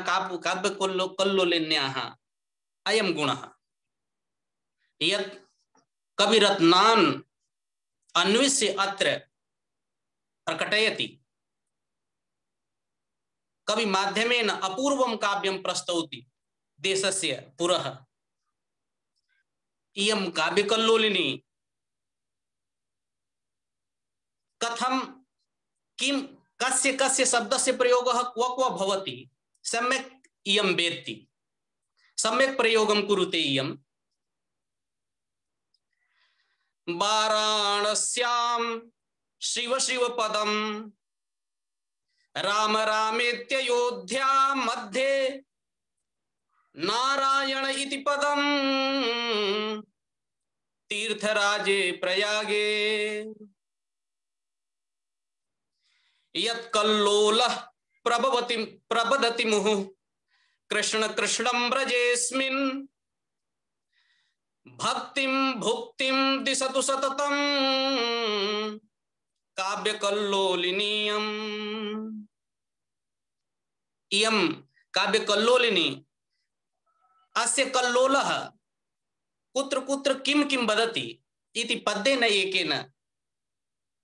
काव्यकल्लोलिन्याः अयं गुणः यत् कविरत्नान् अन्विष्य अत्र प्रकटयति। कवि माध्यमेन अपूर्वं काव्यं प्रस्तौति देशस्य पुरः। इयं काव्यकल्लोलिनी कथं किं कस्य कस्य शब्दस्य प्रयोगः क्व क्व भवति सम्यक् इयं वेत्ति, सम्यक् प्रयोगं कुरुते इयं। वाराणस्यां शिव शिव पदं राम रामेत्ययोध्या मध्ये नारायण इति पदं तीर्थराजे प्रयागे यत्कल्लोलः प्रभवति प्रबदति मुहुः कृष्ण कृष्णं व्रजेस्मिन् भक्तिं भुक्तिं दिशतु सततं काव्यकल्लोलिनीयम्। इयं काव्यकल्लोलिनी अस्य कल्लोलः कुत्र कुत्र किं किं वदति इति पद्येन एकेन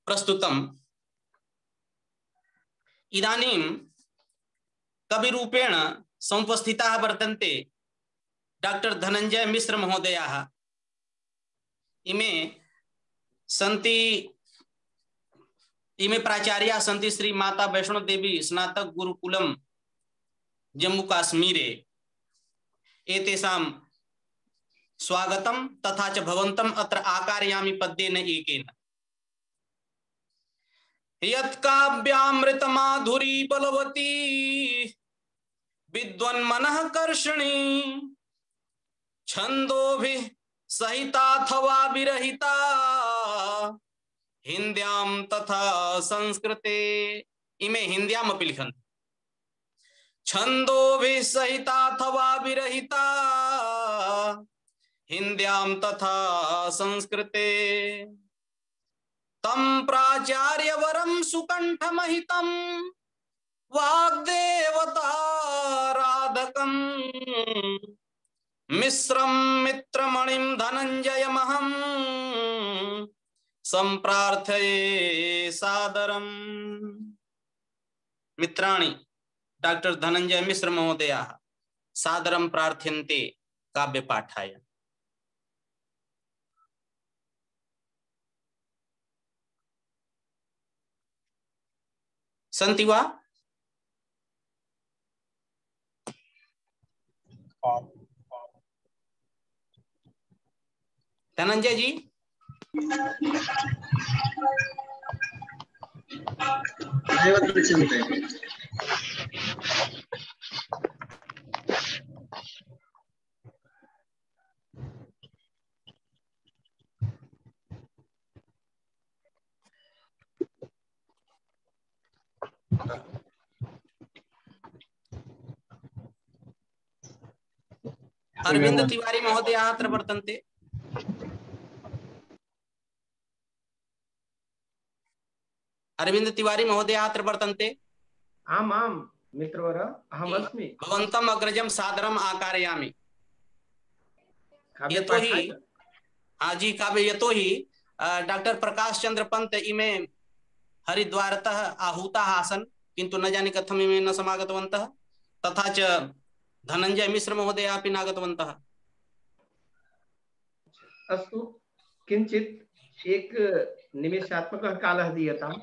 प्रस्तुतम्। इदानीं कविरूपेण समुपस्थिताः वर्तन्ते डॉक्टर धनंजय मिश्र महोदयाः। इमे सन्ति इमे प्राचार्याः सन्ति श्री माता वैष्णो देवी स्नातक गुरुकुलम जम्मू काश्मीरे। एतेषां स्वागतं तथा च भवन्तम् अत्र आकारयामि पद्येन एकेन। यत्काव्यामृत माधुरी बलवती विद्वन्मनः कर्षणी छंदोभिः सहिताथवा विरहिता हिंद्याम तथा संस्कृते। इमे हिंद्याम अपि लिखन्ति। छंदोभिः सहिताथवा विरहिता हिंद्याम तथा संस्कृते। तम प्राचार्यवरं सुकंठमहितं वाग्देवताराधकं मिश्रं मित्रमणिं धनंजयमहं संप्रार्थये सादरम्। मित्राणि डॉक्टर धनंजय मिश्र महोदयाः सादरं प्रार्थ्यन्ते काव्यपाठाय। सन्ति वा? धनंजय जी अरविंद तिवारी महोदय अत्र वर्तन्ते। अरविंद तिवारी महोदय अत्र वर्तन्ते। आम् आम् मित्रवर अहम् अस्मि। भवन्तम् अग्रजं सादरम् आकारयामि। यतोहि आजी काव्य यतोहि डॉक्टर प्रकाश चंद्र पंत इमे हरिद्वारतः आहूताः आसन्, किन्तु न जाने कथम् इमे न समागतवन्तः। तथा च धनंजय मिश्र महोदय अपि नागतवन्तः। अस्तु, किंचित एक निमेषात्मकः कालः दीयताम्।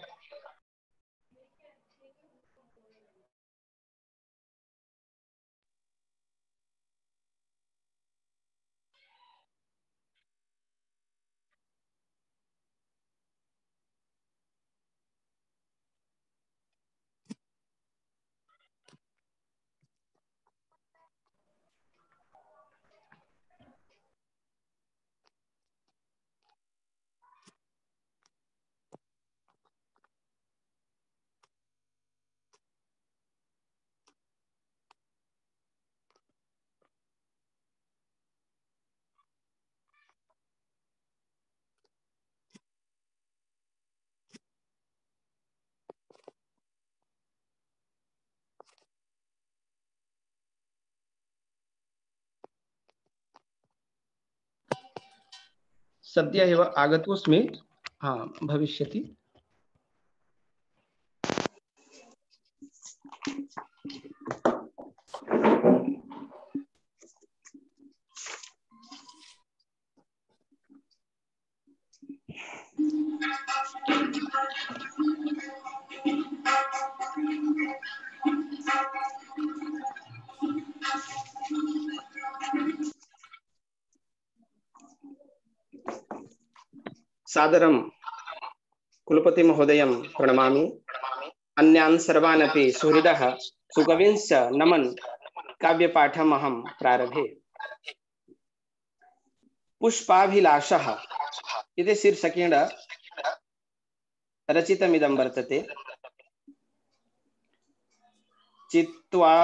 सद्य एव आगतोऽस्मि। हाँ, भविष्यति। सादरं कुलपति महोदयं प्रणमामि। अन्यान् सर्वान् अपि सुहृदः सुकविंश्च नमन् काव्यपाठम् अहं प्रारभे। पुष्पाभिलाषः इति शीर्षकेण रचितमिदं वर्तते। चित्वा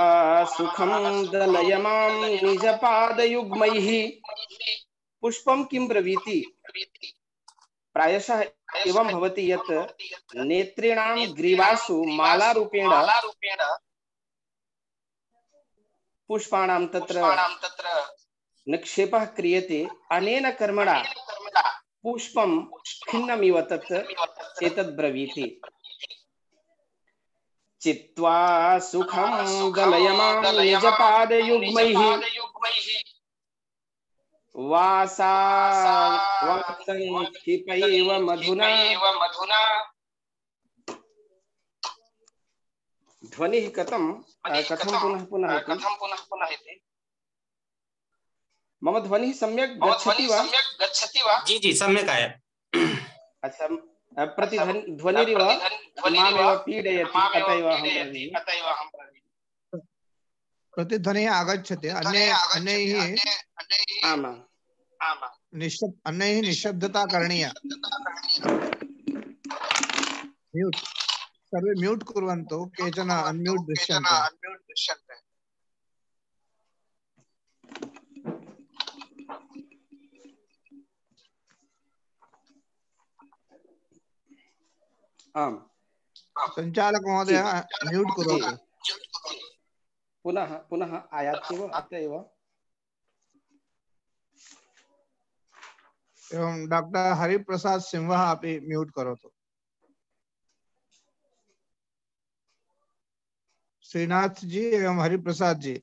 सुखं दलयमां निजपादयुग्मैः पुष्पं किं ब्रवीति। प्रायशः एवं भवति यत् नेत्रीणां ग्रीवासु मालारूपेण पुष्पाणां तत्र निक्षेपः क्रियते। अनेन कर्मणा पुष्पं खिन्नमिव तत् एतद् ब्रवीति। चित्वा सुखं दलयमां निजपादयुग्मैः वासावसंक्षिपैव मधुना। ध्वनिः कथं कथं पुनः पुनः इति। मम ध्वनिः सम्यक् गच्छति वा? जी जी सम्यक् आयाति। अच्छा, प्रतिध्वनिरिव मामेव पीडयति, अतएव अहं प्रतिध्वनिः आगच्छति अन्ये अन्यैः आमां निश्शब्द अन्यैः निश्शब्दता करणीया म्यूट सर्वे म्यूट कुर्वन्तु केचन अनम्यूट दृश्यन्ते आम् संचालक महोदय म्यूट करोतु पुनः पुनः आयाति वा अत्र एव एवं डॉक्टर हरिप्रसाद सिंह अपि म्यूट करोतु श्रीनाथ जी एवं हरिप्रसाद जी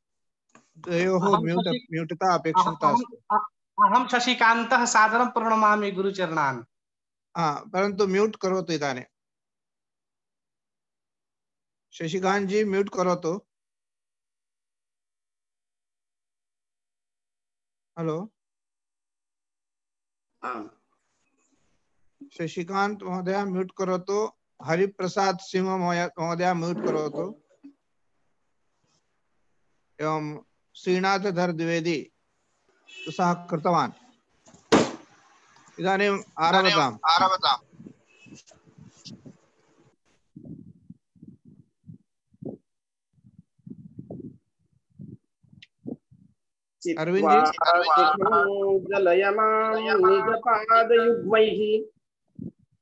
द्वयोः म्यूट म्यूटता अपेक्षिता अस्ति अहं शशिकान्तः सादरं प्रणमामि गुरुचरणान् हाँ परंतु म्यूट करोतु इदानीं शशिकांत जी म्यूट करोतु हेलो शशिकांत महोदय म्यूट करोतु हरिप्रसाद सिंह महोदय म्यूट करोतु एवं श्रीनाथधर द्विवेदी सः कृतवान् इदानीम् आरभताम् आरभताम् जलयमां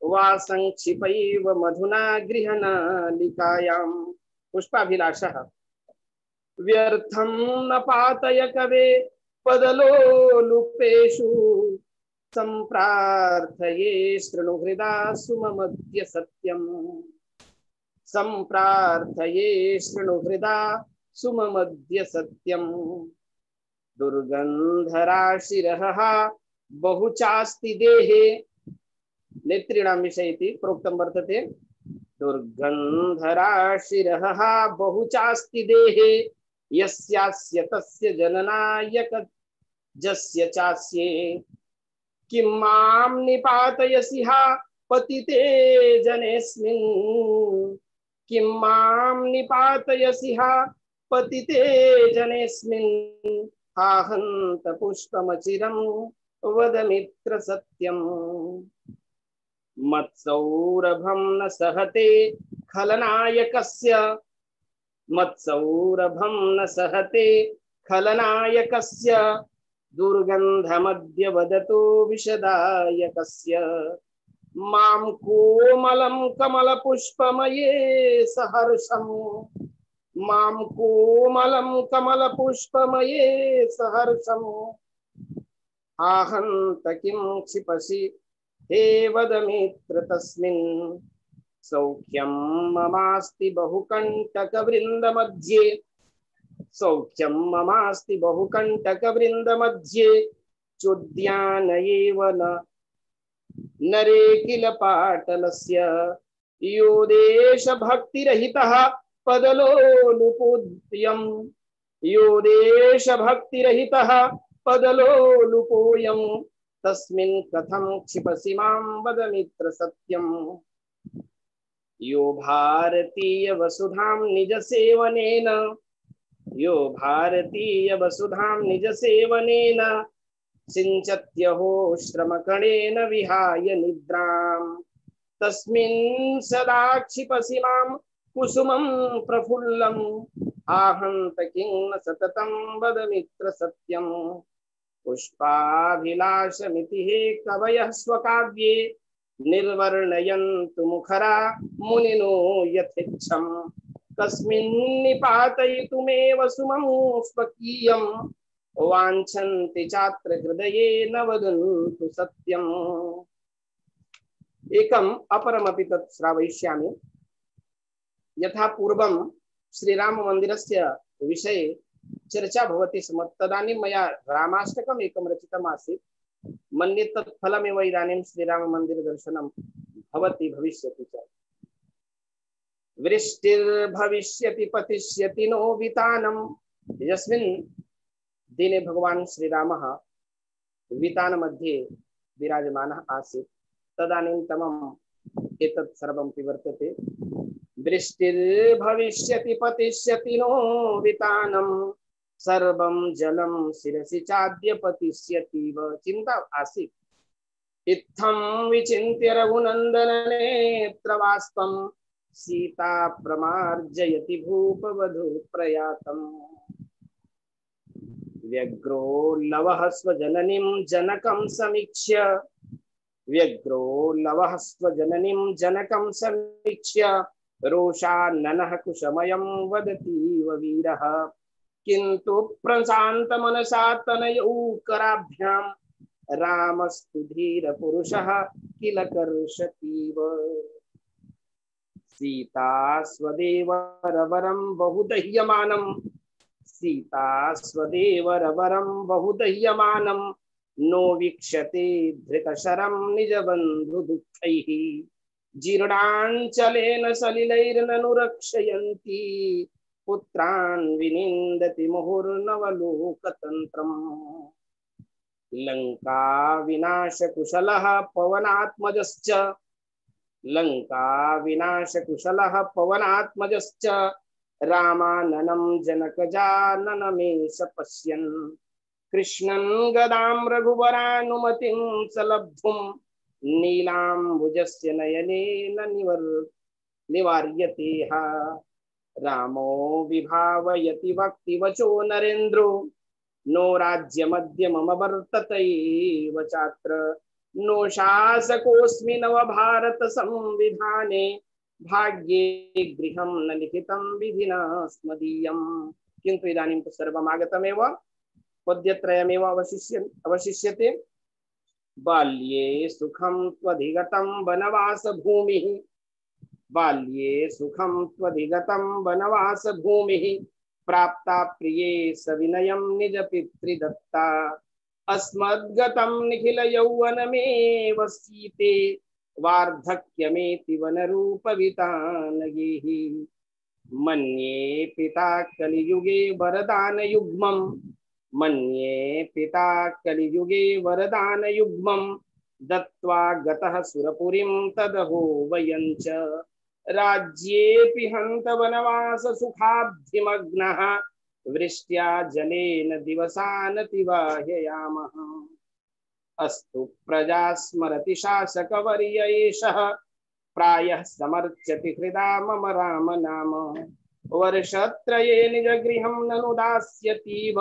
वा संक्षिपैव मधुना गृहनालिकायां पुष्पाभिलाषः व्यर्थं न पातय कवे पदलोलुपेषु संप्रार्थये शृणुहृदा सुममद्य सत्यम् संप्रार्थये शृणुहृदा सुममद्य सत्यम् दुर्गन्धराशिरः बहुचास्ति देहे नेत्रीणां विषये इति प्रोक्तं वर्तते दुर्गन्धराशिरः बहुचास्ति देहे यस्यास्य तस्य जननायक जस्य चास्ये किं मां निपातयसि हा पतिते जनेऽस्मिन् किं मां निपातयसि हा पतिते जनेऽस्मिन् आहन्त पुष्पमचिरं वद मित्र सत्यम् मत्सौरभं न सहते खलनायकस्य मत्सौरभं न सहते खलनायकस्य दुर्गन्धमद्य वदतु विशदायकस्य मां कोमलं कमलपुष्पमये सहर्षम् मां कोमलं कमलपुष्पमये सहर्षम् आहन्त किं क्षिपसि हे वद मित्र तस्मिन् सौख्यं ममास्ति बहुकण्टकवृन्दमध्ये सौख्यं ममास्ति बहुकण्टकवृन्दमध्ये चोद्यान एव न नरे किल पाटलस्य यो देशभक्तिरहितः पदलोलुपोऽयं यो देशभक्तिरहितः पदलोलुपोऽयं तस्मिन् कथं क्षिपसि मां वद मित्र सत्यम् यो भारतीय वसुधां निज सेवनेन यो भारतीय वसुधां निज सेवनेन सिञ्चत्यहो श्रमकणेन विहाय निद्रां तस्मिन् सदा क्षिपसि मां कुसुमं प्रफुल्लम् आहन्त किं न सततं वद मित्र सत्यम् पुष्पाभिलाषमिति हे कवयः स्वकाव्ये निर्वर्णयन्तु मुखरा मुनिनो यथेच्छम् कस्मिन् निपातयितुमेव सुमं स्वकीयं वाञ्छन्ति चात्र हृदये न वदन्तु सत्यम् एकम् अपरमपि तत् श्रावयिष्यामि यथा पूर्वं श्रीराम मंदिरस्य विषये चर्चा भवति स्म तदानीं मया रामाष्टकम् एकं रचितम् आसीत् मन्ये तत् फलमेव इदानीं श्रीराम मंदिर दर्शनं भवति भविष्यति च वृष्टिर्भविष्यति पतिष्यति नो वितानं यस्मिन् दिने भगवान् श्रीरामः वितान मध्ये विराजमानः आसीत् तदानीन्तनम् एतत् सर्वं वर्तते वृष्टिर्भविष्यति पतिष्यति नो वितानम सर्वं जलं शिरसि चाद्य पतिष्यति व चिंता आसीत् इत्थं विचिन्त्य रघुनंदन नेत्रवास्तम सीता प्रमार्जयति भूपवधू प्रयातम व्यग्रो लवः स्वजननीं जनकं समीक्ष्य व्यग्रो लवः स्वजननीं जनकं समीक्ष्य रोषाननः कुशमयं वदतीव वीरः किन्तु प्रशान्त मनसा तनयौ कराभ्यां रामस्तु धीर पुरुषः किल कर्षतीव सीता स्वदेवरवरं बहुदह्यमानं सीता स्वदेवरवरं बहुदह्यमानं नो वीक्षते धृतशरं निजबन्धु दुःखैः जीर्णाञ्चलेन सलिलैर्ननु रक्षयन्ति पुत्रान् विनिन्दति मुहुर्नवलोकतन्त्रम् लंका विनाश कुशलः पवनात्मजश्च लंका विनाश कुशलः पवनात्मजश्च रामाननं जनकजाननमेष पश्यन् कृष्णन् गदां रघुवरानुमतिं सलब्धुं नीलाम्बुजस्य नयनेन निवर् निवार्यते हा रामो विभावयति वक्तिवचो नरेन्द्रो नो राज्यमद्य मम वर्ततैव चात्र नो शासकोऽस्मि नव भारत संविधाने भाग्ये गृहं न लिखितं विधिना स्मदीयम् किन्तु इदानीं तु सर्वमागतमेव पद्यत्रयमेव अवशिष्य अवशिष्यते बाल्ये सुखं त्वधिगतं वनवास भूमिः बाल्ये सुखं त्वधिगतं वनवास भूमिः प्राप्ता प्रिये सविनयं निज पितृदत्ता अस्मद्गतं निखिल यौवनमेव सीते वार्धक्यमेति वनरूपवितानगेः मन्ये पिता कलियुगे वरदान युग्मं मन्ये पिता कलियुगे वरदान युग्मं दत्त्वा गतः सुरपुरीं तदहो वयञ्च राज्येऽपि हन्त वनवास सुखाब्धिमग्नः वृष्ट्या जलेन दिवसान् अतिवाहयामः अस्तु प्रजा स्मरति शासकवर्य एषः प्रायः समर्च्यति हृदा मम राम नाम वर्षत्रये निजगृहं ननु दास्यतीव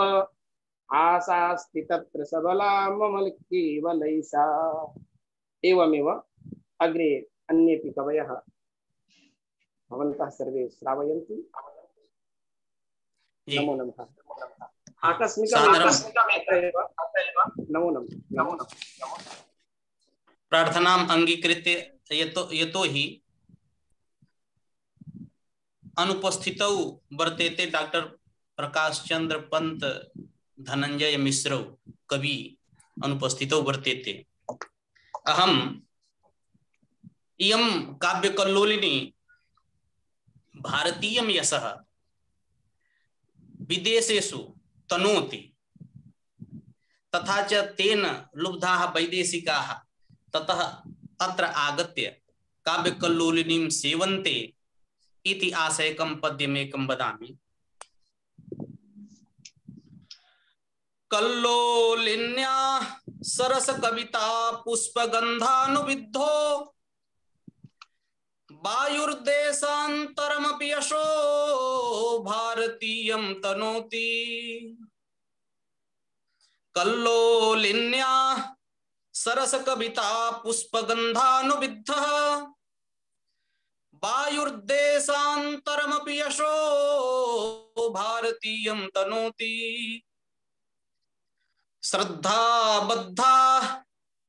आशास्ति तत्र सबला मम केवलैषा एवमेव अग्रे अन्येऽपि कवयः भवन्तः सर्वे श्रावयन्तु नमो नमः आकस्मिकमेव नमो नमः नमो नमः प्रार्थनाम् अंगीकृत्य यतो यतो हि अनुपस्थितौ वर्तेते डॉक्टर प्रकाश चंद्र पंत धनंजय मिश्रौ कवि अनुपस्थितौ वर्तेते अहम इयं काव्यकल्लोलिनी भारतीयं यशः विदेशेषु तनोति तथा च तेन लुब्धाः वैदेशिकाः ततः अत्र आगत्य काव्यकल्लोलिनीं सेवन्ते इति आशयकं पद्यमेकं वदामि। कल्लोलिन्या सरस कविता पुष्पगन्धानुविद्धो वायुर्देशान्तरमपि यशो भारतीयं तनोति। कल्लोलिन्या सरस कविता पुष्पगन्धानुविद्धः वायुर्देशान्तरमपि यशो भारतीयं तनोति। श्रद्धा बद्धा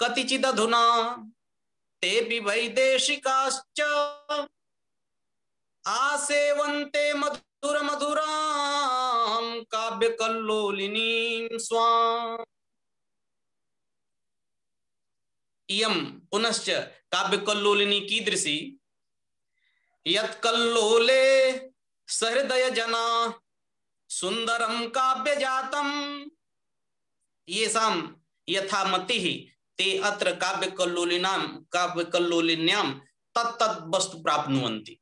कतिचिदधुना तेऽपि वैदेशिकाश्च आसेवन्ते मधुर मधुरां काव्यकल्लोलिनीं स्वाम्। इयं पुनश्च काव्यकल्लोलिनी कीदृशी यत्कल्लोले सहृदय जना सुंदरं काव्यजातं येषां यथा मतिः ते अत्र काव्यकल्लोलिनां काव्यकल्लोलिन्यां तत्तत् वस्तु प्राप्नुवन्ति।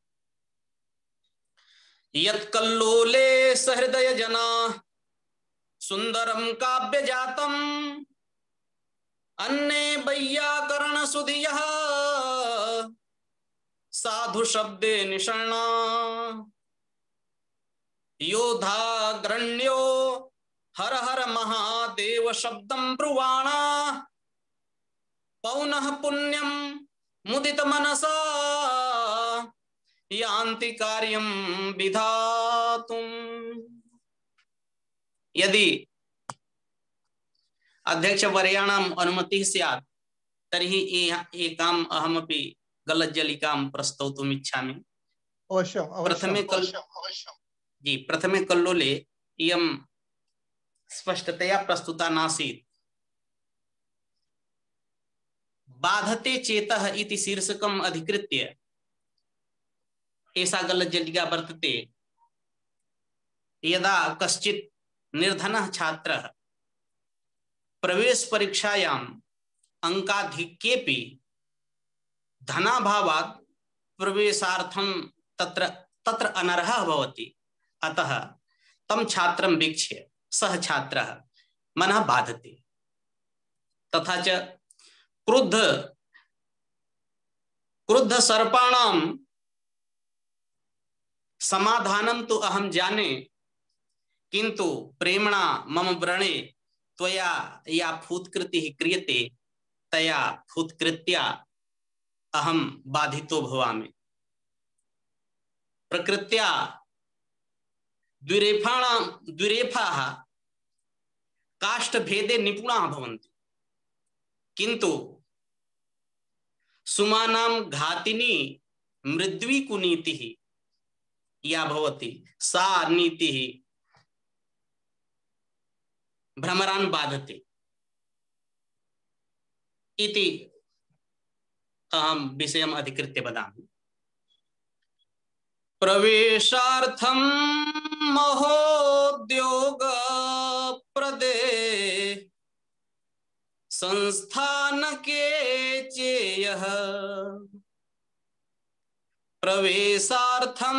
यत्कल्लोले सहृदय जना सुंदरम काव्य जातम अन्ने वैयाकरण सुधियः साधु शब्दे निषण्णा योधाग्रण्यो हर हर महादेव शब्दं ब्रुवाणा पौनः पुण्यं मुदित मनसा यान्ति कार्यं विधातुम्। यदि अध्यक्ष वर्याणाम् अनुमतिः स्यात् तर्हि एकाम् अहमपि गलज्जलिकां प्रस्तौतुम् इच्छामि। अवश्यम् प्रथमे कल जी प्रथमे कल्लोले इयं स्पष्टतया प्रस्तुता नासीत्। बाधते चेतः इति शीर्षकम् अधिकृत्य एषा गलज्जलिका वर्तते। यदा कश्चित् निर्धनः छात्रः प्रवेश परीक्षायाम् अंकाधिक्येपि धनाभावात् प्रवेशार्थं तत्र तत्र अनर्हः भवति। अतः तं छात्रं वीक्ष्य सः छात्रः मनः बाधते। तथा च क्रुद्ध क्रुद्ध सर्पाणां समाधानं तु अहं जाने, किन्तु प्रेम्णा मम व्रणे त्वया या फूत्कृतिः क्रियते तया फूत्कृत्या अहं बाधितो भवामि। प्रकृत्या द्विरेफाणां द्विरेफाः काष्ठभेदे निपुणाः भवन्ति, किन्तु सुमानां घातिनी मृद्वी कुनीतिः या भवति सा नीतिः भ्रमरान् बाधते इति अहं विषयम् अधिकृत्य वदामि। प्रवेशार्थं महोद्योग प्रदे संस्थान के चेयः प्रवेशार्थं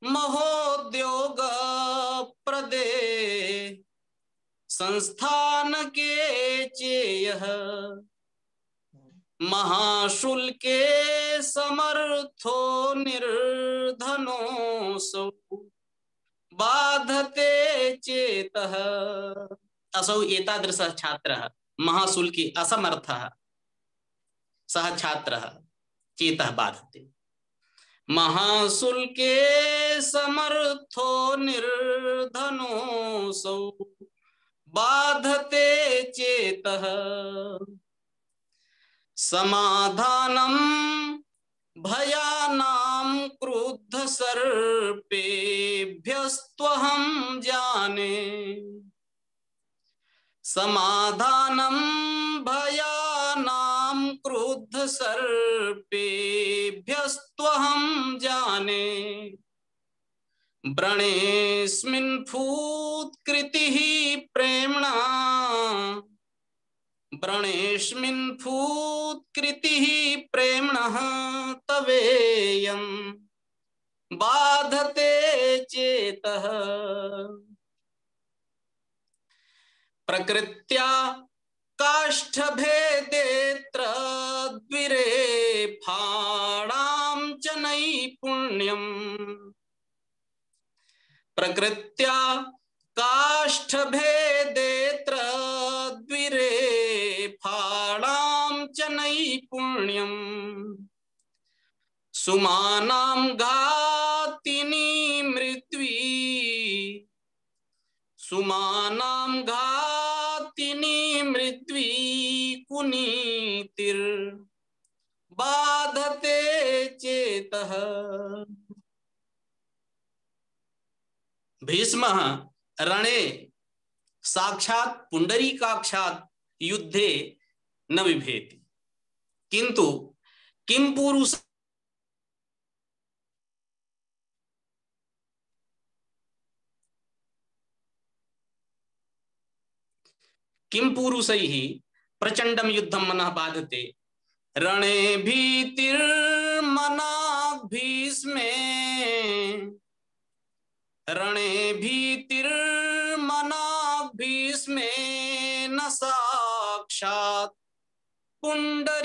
महोद्योग प्रदे संस्थान के चेयः महाशुल्के समर्थो निर्धनोऽसौ बाधते चेतः। असौ एतादृशः छात्रः महाशुल्के असमर्थः सः छात्रः चेतः बाधते। महाशुल्के समर्थो निर्धनोऽसौ बाधते चेतः। समाधानं भयानां क्रुद्ध सर्पेभ्यस्त्वहं जाने समाधानं भयानां क्रुद्ध सर्पेभ्यस्त्वहं जाने व्रणेऽस्मिन् फूत्कृतिः प्रेम्णा व्रणेऽस्मिन् फूत्कृतिः प्रेम्णः तवेयं बाधते चेतः। प्रकृत्या काष्ठभेदेऽत्र द्विरेफाणां च नैपुण्यम् प्रकृत्या काष्ठभेदेऽत्र द्विरेफाणां च नैपुण्यम् सुमानां घातिनी मृद्वी सुमानां घातिनी मृद्वी कुनीतिर् बाधते चेतः। भीष्मः रणे साक्षात् पुंडरीकाक्षात् युद्धे न बिभेति, किंतु किं पुरुष किं पुरुषैः प्रचंडं युद्धं मनः बाधते। रणे भीतिर्मनाग् भीष्मे रणे भीतिर्मना भीष्मेन साक्षात् पुंडरीकाक्षात्।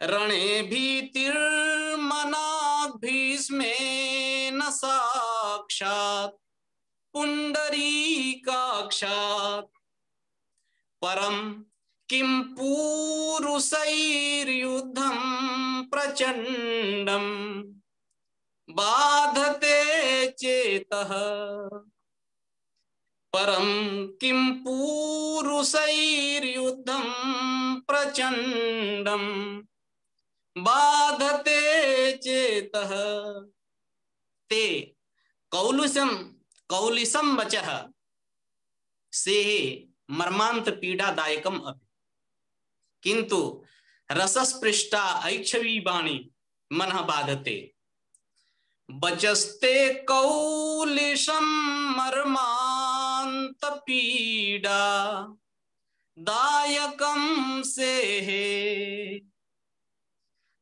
रणे भीतिर्मना भीष्मेन साक्षात् पुंडरीकाक्षात्। परम किं पूरुषैर्युद्धं प्रचंडं बाधते चेतः। परम किं पूरुषैर्युद्धं प्रचंडं बाधते चेतः। ते कौलिसम कौलिसम वचः से मर्मांत पीड़ादायकम अपि किंतु रसस्पृष्टा ऐक्षवी वाणी मनः बाधते। वचस्ते कौलिशं मर्मांत पीड़ा दायकम सेहे।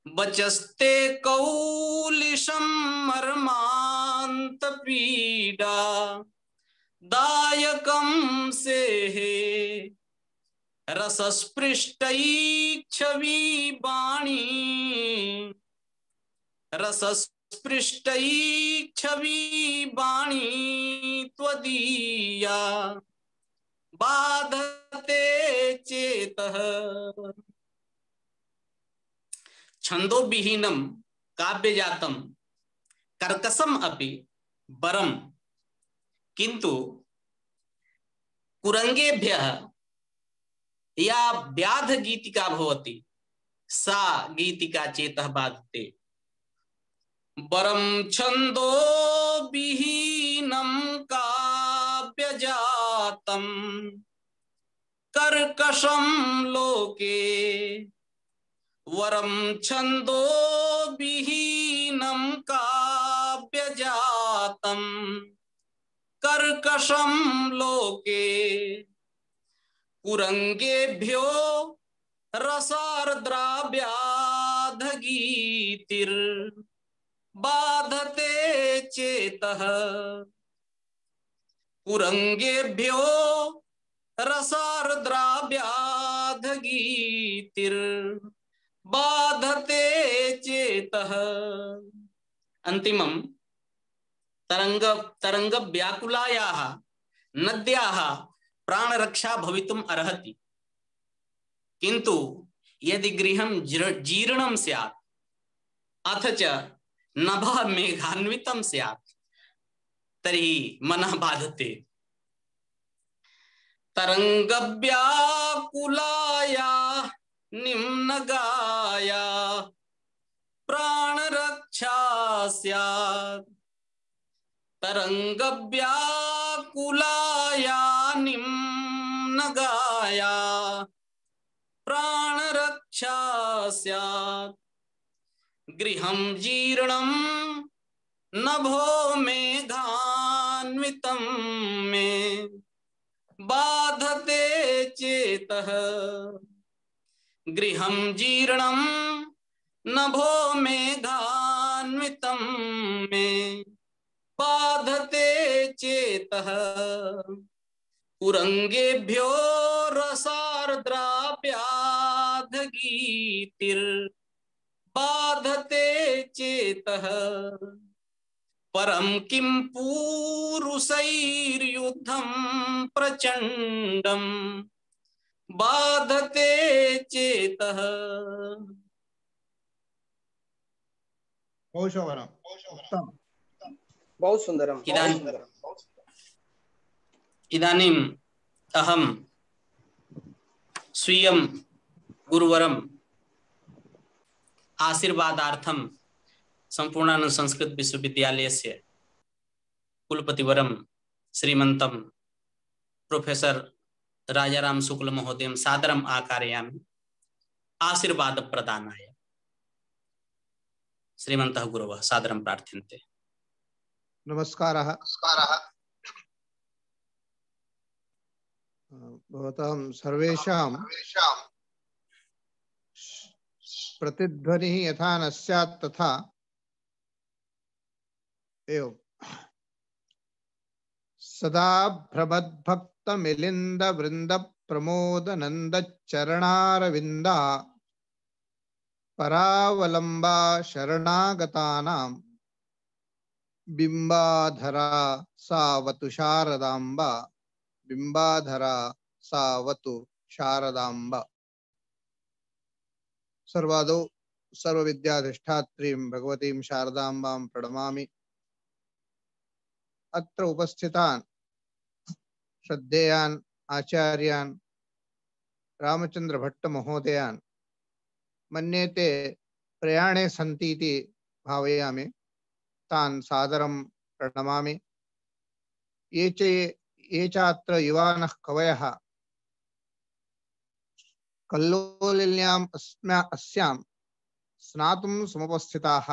वचस्ते कौलिशं मर्मांत पीड़ा दायकम सेहे। रसस्पृष्टैक्षवी वाणी रसस्पृष्टैक्षवी वाणी त्वदीया बाधते चेतः। छंदोविहीनं काव्यजातं कर्कशम अपि वरम किंतु कुरंगेभ्यः या व्याध गीतिका भवति सा गीतिका चेतः बाधते। वरम छंदो विहीनं काव्यजातं कर्कशं लोके। वरम छंदो विहीनं काव्यजातं कर्कशं लोके। कुरंगेभ्यो रसार्द्राव्याधगीतिर् बाधते चेतः। कुरंगेभ्यो रसार्द्राव्याधगीतिर् बाधते चेतः। अंतिमं तरंग तरंग व्याकुलायाः नद्याः प्राणरक्षा भवितुम् अर्हति किंतु यदि गृहं जीर्णं स्यात् अथ च नभः मेघान्वितं स्यात् तर्हि मनः बाधते। तरंगव्याकुलाया निम्नगाया प्राणरक्षा स्यात्। तरंगव्याकुलाया निम्नगाया प्राणरक्षा स्यात्। गृहं जीर्णं नभो मेघान्वितं मे बाधते चेतः। गृहं जीर्णं नभो मेघान्वितं मे बाधते चेतः। कुरंगेभ्यो रसार्द्राव्याधगीतिर् बाधते चेतः। परम किं पूरुषैर्युद्धं प्रचंडं बाधते चेतः। बहुत सुंदरम। इदानीम् अहं स्वीयं गुरुवरम् आशीर्वादार्थं संपूर्णानंद संस्कृत विश्वविद्यालयस्य कुलपतिवरं श्रीमन्तं प्रोफेसर राजाराम शुक्ल महोदयं सादरम् आकारयामि आशीर्वाद प्रदानाय। श्रीमन्तः गुरवः सादरं प्रार्थ्यन्ते। नमस्कारः। भवतां सर्वेषां प्रतिध्वनिः यथा न स्यात् तथा एवं सदा भ्रमद्भक्त मिलिंद वृंद प्रमोद नंद चरणारविंदा परावलंबा शरणागतानां बिंबाधरा सावतु शारदांबा बिंबाधरा सावतु शारदांबा। सर्वादौ सर्वविद्याधिष्ठात्रीं भगवतीं शारदांबां प्रणमामि। अत्र उपस्थितान् श्रद्धेयान् आचार्यान् रामचंद्र भट्ट महोदयान् मन्ये ते प्रयाणे सन्ति इति भावयामि। तान् सादरं प्रणमामि। ये च ये चात्र युवानः कवयः कल्लोलिन्याम् अस्म्या अस्यां स्नातुं समुपस्थिताः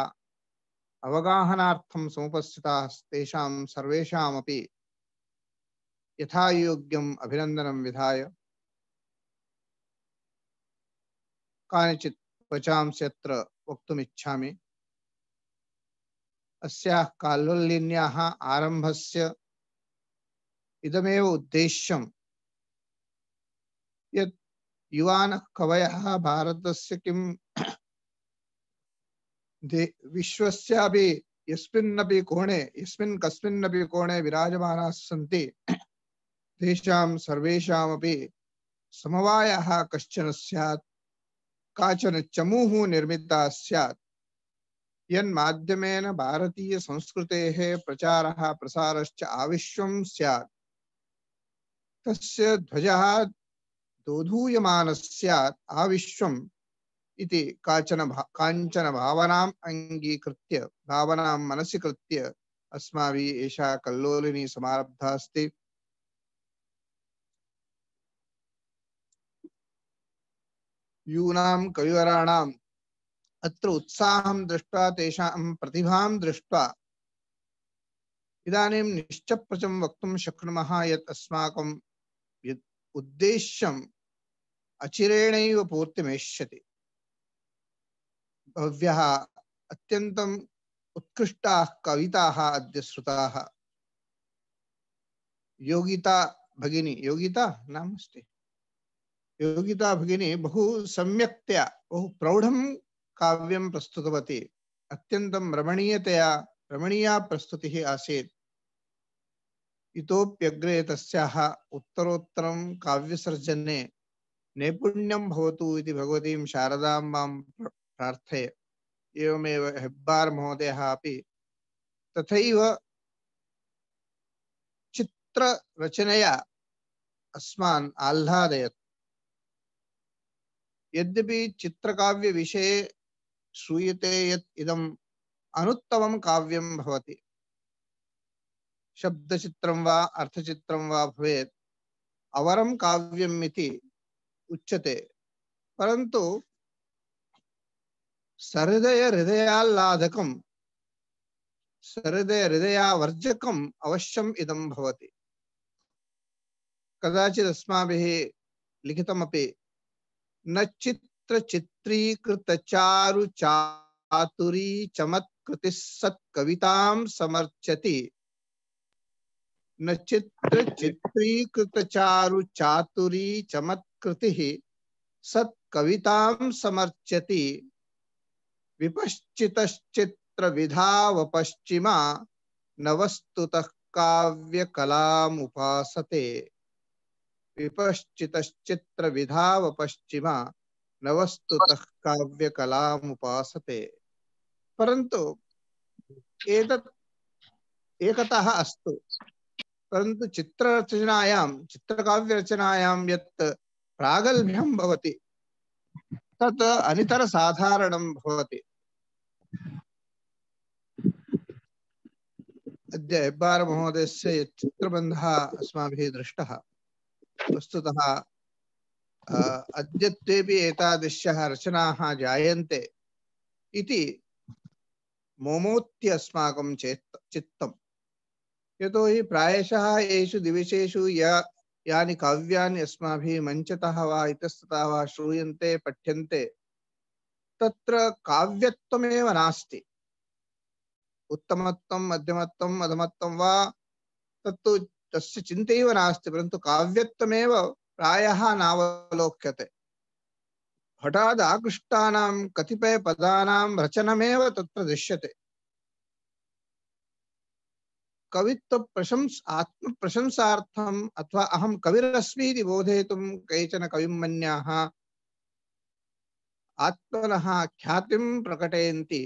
अवगाहनार्थं समुपस्थिताः तेषां सर्वेषामपि यथायोग्यम् अभिनन्दनं विधाय कानिचित् वचांसि अत्र वक्तुमिच्छामि। अस्याः काल्लोलिन्याः आरम्भस्य इदमेव उद्देश्यं यत् युवानः कवयः भारतस्य किं विश्वस्यापि यस्मिन्नपि कोणे यस्मिन् कस्मिन्नपि कोणे विराजमानाः सन्ति तेषां सर्वेषामपि समवायः कश्चन स्यात्, काचन चमूः निर्मिता स्यात् यन्माध्यमेन भारतीय संस्कृतेः प्रचारः प्रसारश्च आविश्वं स्यात्। तस्य ध्वजः दोधूयमानः स्यात् आविश्वम् इति काचन भा, काञ्चन भावनाम् अङ्गीकृत्य भावनां मनसि कृत्य अस्माभिः एषा कल्लोलिनी समारब्धा अस्ति। यूनां कविवराणाम् अत्र उत्साहं दृष्ट्वा तेषां प्रतिभां दृष्ट्वा इदानीं निश्चप्रचं वक्तुं शक्नुमः यत् अस्माकं यत् उद्देश्यम् अचिरेणैव पूर्तिमेष्यति। भव्यः अत्यन्तम् उत्कृष्टाः कविताः अद्य श्रुताः। योगिता भगिनी योगिता नाम अस्ति योगिता भगिनी बहु सम्यक्तया बहु प्रौढं काव्यं प्रस्तुतवती। अत्यन्तं रमणीयतया रमणीया प्रस्तुतिः आसीत्। इतोप्यग्रे तस्याः उत्तरोत्तरं काव्यसर्जने नैपुण्यं भवतु इति भगवतीं शारदाम्बां प्रार्थये। एवमेव हेब्बार् महोदयः अपि तथैव चित्ररचनया अस्मान् आह्लादयत्। यद्यपि चित्रकाव्य विषये श्रूयते यत् इदम् अनुत्तमं काव्यं भवति, शब्दचित्रं वा अर्थचित्रं वा भवेत् अवरं काव्यम् इति उच्यते, परन्तु सहृदय हृदयाह्लादकं सहृदय हृदयावर्जकम् अवश्यम् इदं भवति। कदाचित् अस्माभिः लिखितमपि न चित्र चित्रीकृत चारु चातुरी चमत्कृतिः सत्कवितां समर्चति न चित्र चित्रीकृत चारु चातुरी चमत्कृतिः सत्कवितां समर्चति विपश्चितश्चित्र विधावपश्चिमा न वस्तुतः काव्यकलामुपासते। विपश्चितश्चित्र विधावपश्चिमा न वस्तुतः काव्यकलामुपासते। परन्तु एतत् एकतः अस्तु, परन्तु चित्ररचनायां चित्रकाव्यरचनायां यत् प्रागल्भ्यं भवति तत् अनितरसाधारणं भवति। अद्य हेब्बार महोदयस्य यत् चित्रबन्धः अस्माभिः दृष्टः, वस्तुतः अद्यत्वेपि एतादृश्यः रचनाः जायन्ते इति मोमोत्य अस्माकं चेत् चित्तम्। यतोहि प्रायशः एषु दिवसेषु या यानि काव्यानि अस्माभिः मञ्चतः वा इतस्ततः वा श्रूयन्ते पठ्यन्ते तत्र काव्यत्वमेव नास्ति। उत्तमत्वं मध्यमत्वं अधमत्वं वा तत्तु तस्य चिन्तैव नास्ति, परन्तु काव्यत्वमेव प्रायः नावलोक्यते। हठात् आकृष्टानां कतिपयपदानां रचनमेव तत्र दृश्यते। कवित्व प्रशंस आत्मप्रशंसार्थम् अथवा अहं कविरस्मि इति बोधयितुं केचन कविमन्याः आत्मनः ख्यातिं प्रकटयन्ति।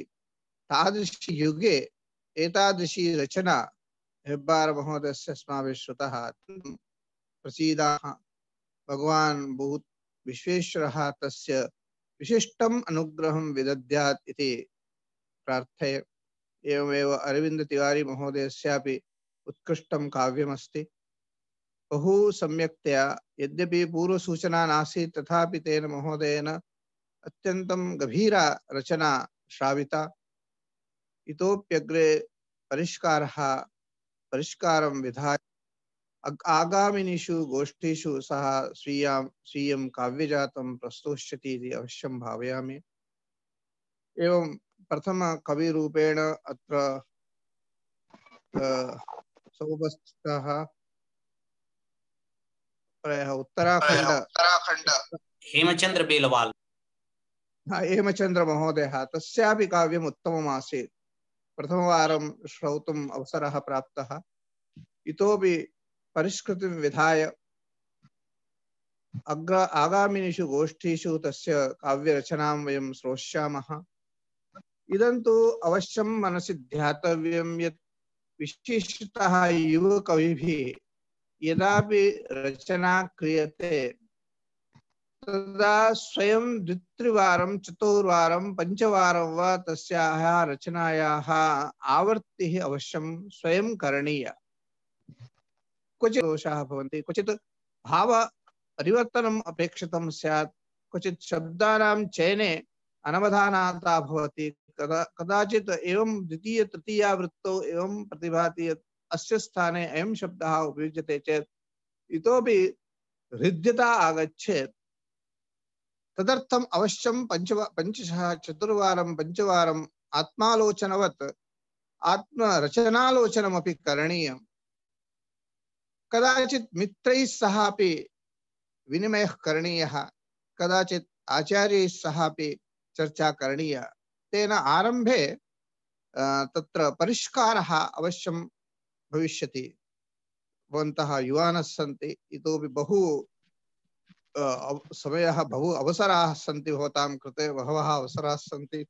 तादृशी युगे एतादृशी रचना हेब्बार महोदयस्य अस्माभिः श्रुतः प्रसीदाः। भगवान् बहुत विश्वेश्वरः तस्य विशिष्टम् अनुग्रहं विदद्यात् इति प्रार्थये। एवमेव अरविंद तिवारी महोदयस्यापि उत्कृष्टं काव्यमस्ति। बहु सम्यक्तया, यद्यपि पूर्वसूचना नासीत् तथापि तेन महोदयेन अत्यन्तं गभीरा रचना श्राविता। इतोप्यग्रे परिष्कारः परिष्कारं विधाय आगामिनीषु गोष्ठीषु सः स्वीयां स्वीयं काव्यजातं प्रस्तुष्यति इति अवश्यं भावयामि। एवं प्रथम कविरूपेण अत्र समुपस्थितः प्रायः उत्तराखण्ड उत्तराखण्ड हेमचंद्र बेलवाल हेमचंद्र महोदयः, तस्यापि काव्यम् उत्तमम् आसीत्। प्रथमवारं श्रोतुम् अवसरः प्राप्तः। इतोपि परिष्कृतिं विधाय अग्र आगामिनीषु गोष्ठीषु तस्य काव्यरचनां वयं श्रोष्यामः। इदं तु अवश्यं मनसि ध्यातव्यं यत् विशेषतः युवकविभिः यदापि रचना क्रियते तदा स्वयं द्वित्रिवारं चतुर्वारं पञ्चवारं वा तस्याः रचनायाः आवर्तिः अवश्यं स्वयं करणीया। क्वचित् दोषाः भवन्ति, क्वचित् भाव परिवर्तनम् अपेक्षितं स्यात्, क्वचित् शब्दानां चयने अनवधानता भवति। कदा कदाचित् एवं द्वितीय तृतीया वृत्तौ एवं प्रतिभाति यत् अस्य स्थाने अयं शब्दः उपयुज्यते चेत् इतोपि हृद्यता आगच्छेत्। तदर्थम् अवश्यं पञ्च पञ्चशः चतुर्वारं पञ्चवारम् आत्मालोचनवत् आत्मरचनालोचनमपि करणीयम्। कदाचित् मित्रैः सह अपि विनिमयः करणीयः, कदाचित् आचार्यैः सह अपि चर्चा करणीया। तेन आरम्भे तत्र परिष्कारः अवश्यं भविष्यति। भवन्तः युवानः सन्ति, इतोपि बहु समयः बहु अवसराः सन्ति, भवतां कृते बहवः अवसराः सन्ति।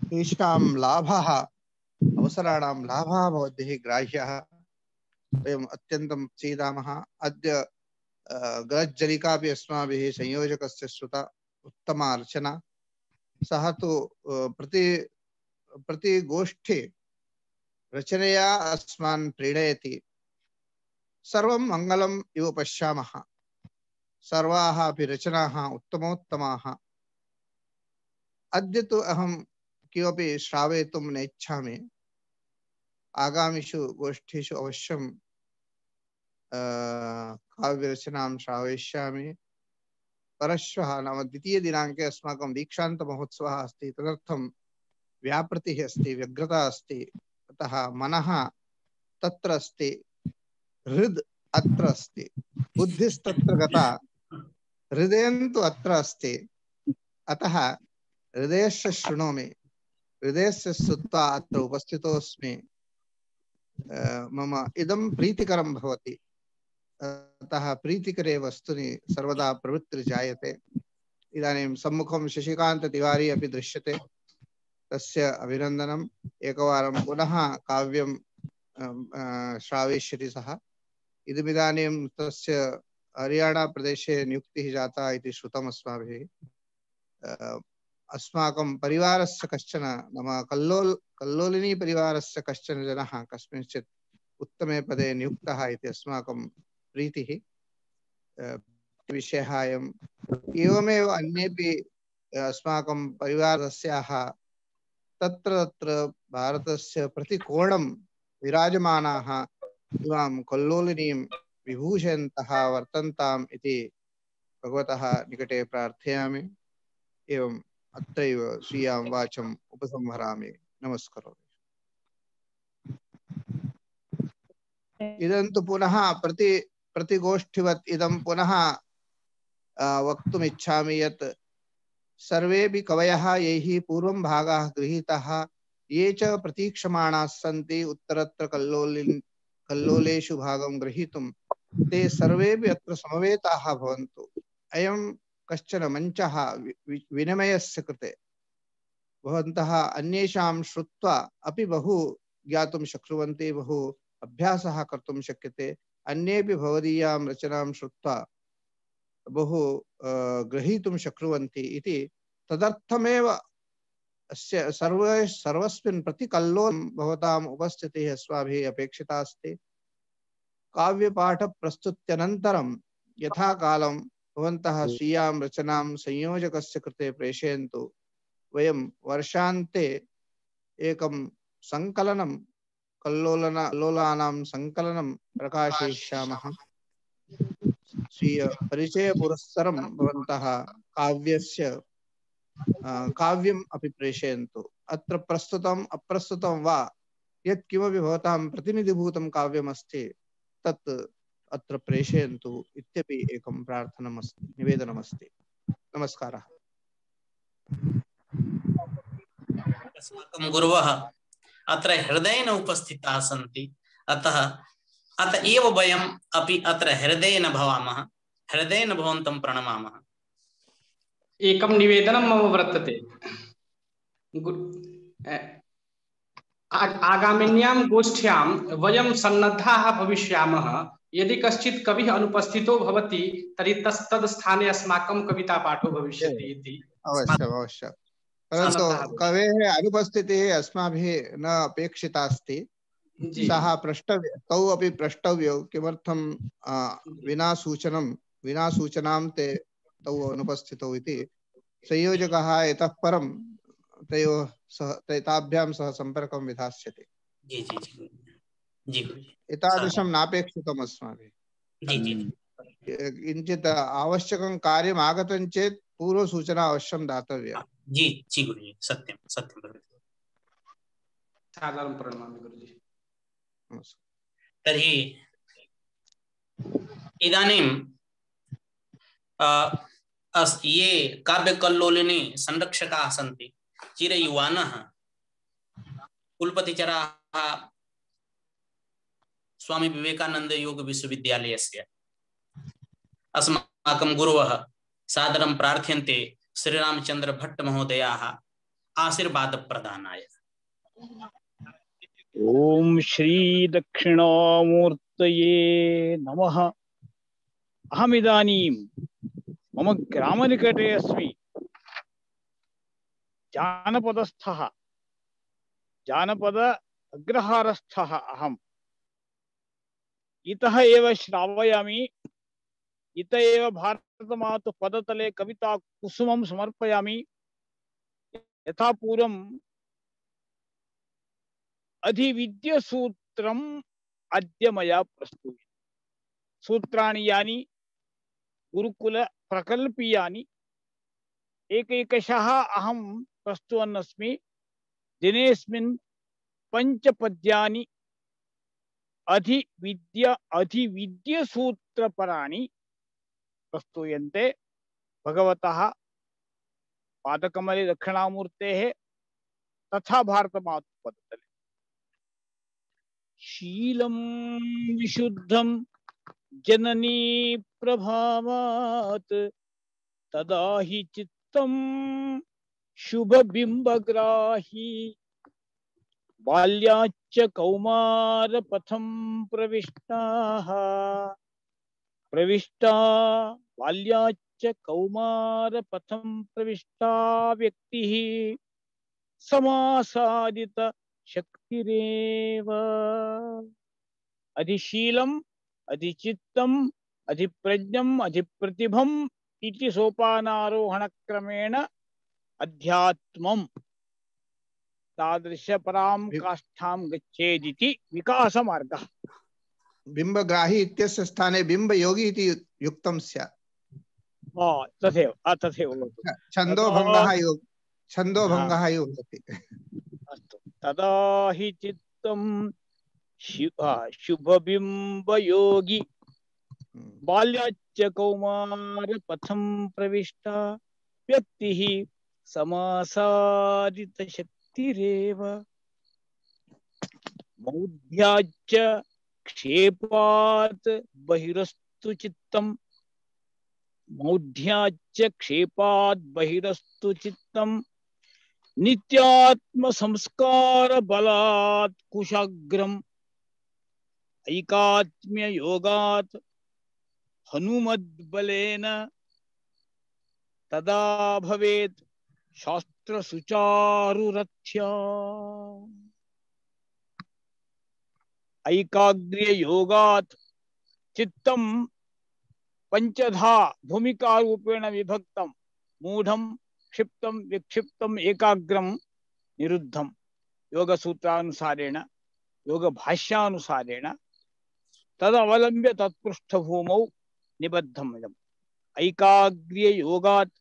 तेषां लाभः अवसराणां लाभः भवद्भिः ग्राह्यः। वयम् अत्यन्तं सीदामः। अद्य गजलिकापि अस्माभिः संयोजकस्य श्रुता, उत्तमा रचना। सः तु प्रति प्रति गोष्ठी रचनया अस्मान् प्रेरयति। सर्वं मङ्गलम् इव पश्यामः। सर्वाः अपि रचनाः उत्तमोत्तमाः। अद्य तु अहं किमपि श्रावयितुं नेच्छामि। आगामिषु गोष्ठीषु अवश्यं काव्यरचनां श्रावयिष्यामि। परश्वः नाम द्वितीयदिनाङ्के अस्माकं दीक्षान्तमहोत्सवः अस्ति। तदर्थं व्यापृतिः अस्ति, व्यग्रता अस्ति। अतः मनः तत्र अस्ति, हृद् अत्र अस्ति, बुद्धिस्तत्र गता, हृदयं तु अत्र अस्ति। अतः हृदयस्य शृणोमि, हृदयस्य श्रुत्वा अत्र उपस्थितोऽस्मि। मम इदं प्रीतिकरं भवति। अतः प्रीतिकरे वस्तुनि सर्वदा प्रवृत्तिर्जायते। इदानीं सम्मुखं शशिकान्त तिवारी अपि दृश्यते, तस्य अभिनन्दनम्। एकवारं पुनः काव्यं श्रावयिष्यति सः। इदमिदानीं तस्य हरियाणा प्रदेशे नियुक्तिः जाता इति श्रुतम् अस्माभिः। अस्माकं परिवारस्य कश्चन नाम कल्लोल कल्लोलिनी परिवारस्य कश्चन जनः कस्मिंश्चित् उत्तमे पदे नियुक्तः इति अस्माकं प्रीतिः। विषयः अयम्। एवमेव अन्येपि अस्माकं परिवारस्याः तत्र तत्र भारतस्य प्रतिकोणं विराजमानाः इमां कल्लोलिनीं विभूषयन्तः वर्तन्ताम् इति भगवतः निकटे प्रार्थयामि। एवम् अत्रैव स्वीयां वाचम् उपसंहरामि। नमस्कारो। इदं तु पुनः प्रति प्रतिगोष्ठिवत् इदं पुनः वक्तुम् इच्छामि यत् सर्वेपि कवयः यैः पूर्वं भागः गृहीतः ये च प्रतीक्षमाणाः सन्ति उत्तरत्र कल्लोलिन् कल्लोलेषु भागं ग्रहीतुं ते सर्वेपि अत्र समवेताः भवन्तु। अयं कश्चन मञ्चः विनिमयस्य कृते भवन्तः अन्येषां श्रुत्वा अपि बहु ज्ञातुं शक्नुवन्ति, बहु अभ्यासः कर्तुं शक्यते। अन्येपि भवदीयां रचनां श्रुत्वा बहु ग्रहीतुं शक्नुवन्ति इति तदर्थमेव अस्य सर्वे सर्वस्मिन् प्रतिकल्लोलं भवताम् उपस्थितिः अस्माभिः अपेक्षिता अस्ति। काव्यपाठप्रस्तुत्यनन्तरं यथा कालं भवन्तः स्वीयां रचनां संयोजकस्य कृते प्रेषयन्तु। वयं वर्षान्ते एकं संकलनं कल्लोलन लोलानां संकलनं प्रकाशयिष्यामः। स्वीय परिचय पुरस्सरं भवन्तः काव्यस्य काव्यम् अपि प्रेषयन्तु। अत्र प्रस्तुतम् अप्रस्तुतं वा यत् किमपि भवतां प्रतिनिधिभूतं काव्यमस्ति तत् अत्र प्रेषयन्तु इत्यपि एकं प्रार्थनमस्ति, निवेदनमस्ति। नमस्कारः। अस्माकं गुरवः अत्र हृदयेन उपस्थिताः सन्ति, अतः अत एव वयम् अपि अत्र हृदयेन भवामः, हृदयेन भवन्तं प्रणमामः। एकं निवेदनं मम वर्तते। आगामिन्यां गोष्ठ्यां वयं सन्नद्धाः भविष्यामः। यदि कश्चित् कविः अनुपस्थितो भवति तर्हि तस्तद् स्थाने अस्माकं कवितापाठो भविष्यति इति। अवश्यम् अवश्यम्। परन्तु कवेः अनुपस्थितिः अस्माभिः न अपेक्षिता अस्ति। सः प्रष्टव्य तौ अपि प्रष्टव्यौ किमर्थं विना सूचनं विना सूचनां ते तौ अनुपस्थितौ इति। संयोजकः इतः परं तयोः सह ताभ्यां सह सम्पर्कं विधास्यति। जी जी जी जी एतादृशं नापेक्षितम् अस्माभिः। जी जी किञ्चित् आवश्यकं कार्यम् आगतं चेत् पूर्वसूचना अवश्यं दातव्या। जी जी गुरुजी, सत्यं सत्यं गुरुजी। सादरं प्रणमामि गुरुजी। तर्हि इदानीं ये काव्यकल्लोलिनी संरक्षकाः सन्ति, चिरयुवानः कुलपतिचराः स्वामी विवेकानंद योग विश्वविद्यालयस्य अस्माकं गुरवः सादरं प्रार्थ्यन्ते श्रीरामचंद्र भट्ट महोदयाः आशीर्वाद प्रदानाय। ओम श्री दक्षिणामूर्तये नमः। अहमिदानीं मम ग्रामनिकटे अस्मि। जानपदस्थः जानपद अग्रहारस्थः अहम्। इतः एव श्रावयामि, इत एव भारतमातु पदतले कविता कुसुमं समर्पयामि। यथा पूर्वम् अधिविद्यसूत्रम् अद्य मया प्रस्तुयते। सूत्राणि यानि गुरुकुल प्रकल्पीयानि एकैकशः अहं प्रस्तुवन् अस्मि। दिनेस्मिन् पञ्चपद्यानि अधिविद्य अधिविद्यसूत्रपराणि प्रस्तूयन्ते भगवतः पादकमले दक्षिणामूर्तेः तथा भारतमातु पदतले। शीलं विशुद्धं जननी प्रभावात् तदा हि चित्तं शुभबिम्बग्राही। बाल्याच्च कौमारपथं प्रविष्टाः प्रविष्टा बाल्याच्च कौमारपथं प्रविष्टा व्यक्तिः समासादित शक्तिरेव। अधिशीलम् अधिचित्तम् अधिप्रज्ञम् अधिप्रतिभम् इति सोपानारोहणक्रमेण अध्यात्मम् तादृश परां काष्ठां गच्छेदिति विकासमार्गः। बिम्बग्राही इत्यस्य स्थाने बिम्बयोगी इति युक्तं स्यात्। तथैव तथैव छन्दोभङ्गः योग छन्दोभङ्गः एव भवति। अस्तु। तदा हि चित्तं शुभबिंब योगी बाल्याच्च कौमार पथम प्रविष्टा व्यक्तिः समासादित शक्तिरेव मौढ्याच्च क्षेपात् बहिरस्तु चित्तम् मौढ्याच्च क्षेपात् बहिरस्तु चित्तम् नित्यात्म संस्कार बलात् कुशाग्रम् ऐकात्म्य योगात् हनुमद्बलेन तदा भवेत् शास्त्र सुचारुरथ्या ऐकाग्र्य योगात् चित्तं पंचधा भूमिका रूपेण विभक्तं मूढ़ं क्षिप्तं विक्षिप्तं एकाग्रं निरुद्धं योग सूत्रानुसारेण योग भाष्यानुसारेण तदवलंब्य तत्पृष्ठभूमौ निबद्धम् इदम् ऐकाग्र्य योगात्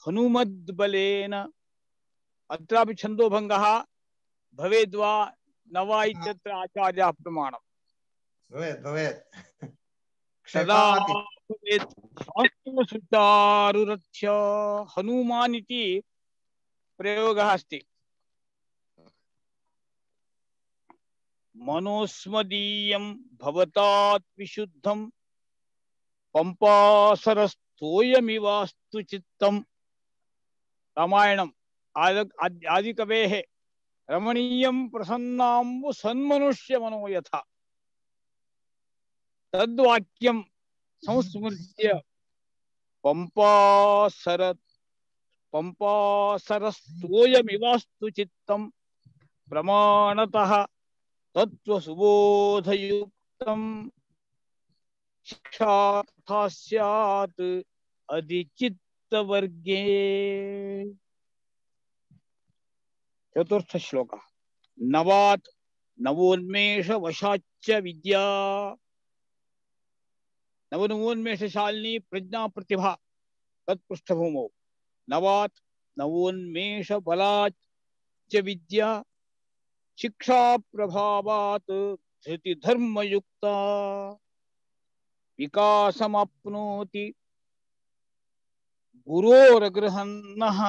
हनुमद्बलेन अत्रापि छन्दोभङ्गः भवेद्वा न वा इत्यत्र आचार्याः प्रमाणम् भवेत् भवेत् सदा भवेत् शास्त्रसुचारुरथ्या हनुमान् इति प्रयोगः अस्ति मनोस्मदीयं भवतात् विशुद्धं पंपासरस्तोयमिवास्तु चित्तम् रामायणम् आदिकवेः रमणीयं प्रसन्नाम्बु सन्मनुष्य मनो यथा तद्वाक्यं संस्मृत्य पंपासर पंपासरस्तोयमिवास्तु चित्तं प्रमाणतः तत्त्वसुबोधयुक्तं शिक्षा तथा स्यात् अधिचित्तवर्गे। चतुर्थ श्लोकः नवात् नवोन्मेष वशाच्च विद्या नवनवोन्मेषशालिनी प्रज्ञा प्रतिभा तत्पृष्ठभूमौ नवात् नवोन्मेष बलाच्च विद्या शिक्षा प्रभावात् धृति धर्मयुक्ता विकासमाप्नोति गुरोर्गृहन्नः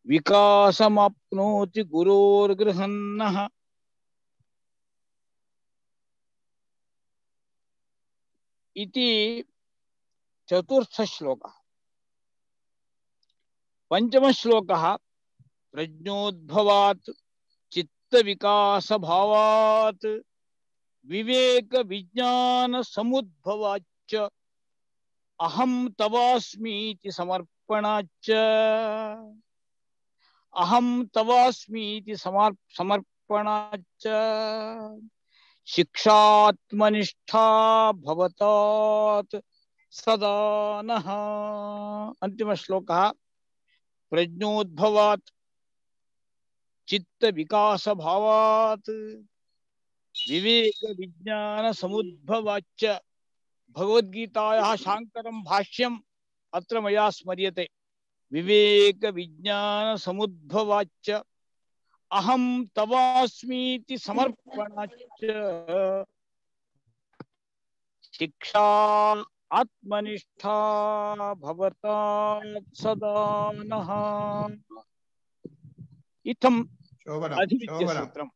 विकासमाप्नोति गुरोर्गृहन्नः इति चतुर्थ श्लोकः। पंचम श्लोकः प्रज्ञोद्भवात् चित्त विकास भावात् विवेक विज्ञान समुद्भवाच्च अहं तवास्मीति समर्पणाच्च अहं तवास्मीति समर्पणाच्च शिक्षात्मनिष्ठा भवतात् सदा नः। अंतिम श्लोकः प्रज्ञोद्भवात् चित्त विकास भावात् विवेक विज्ञान समुद्भवाच्च भगवद्गीतायाः शाङ्करं भाष्यम् अत्र मया स्मर्यते। विवेक विज्ञान समुद्भवाच्च अहं तवास्मीति समर्पणाच्च शिक्षा आत्मनिष्ठा भवतात् सदा नः। इत्थम् अधिविद्यसूत्रम्।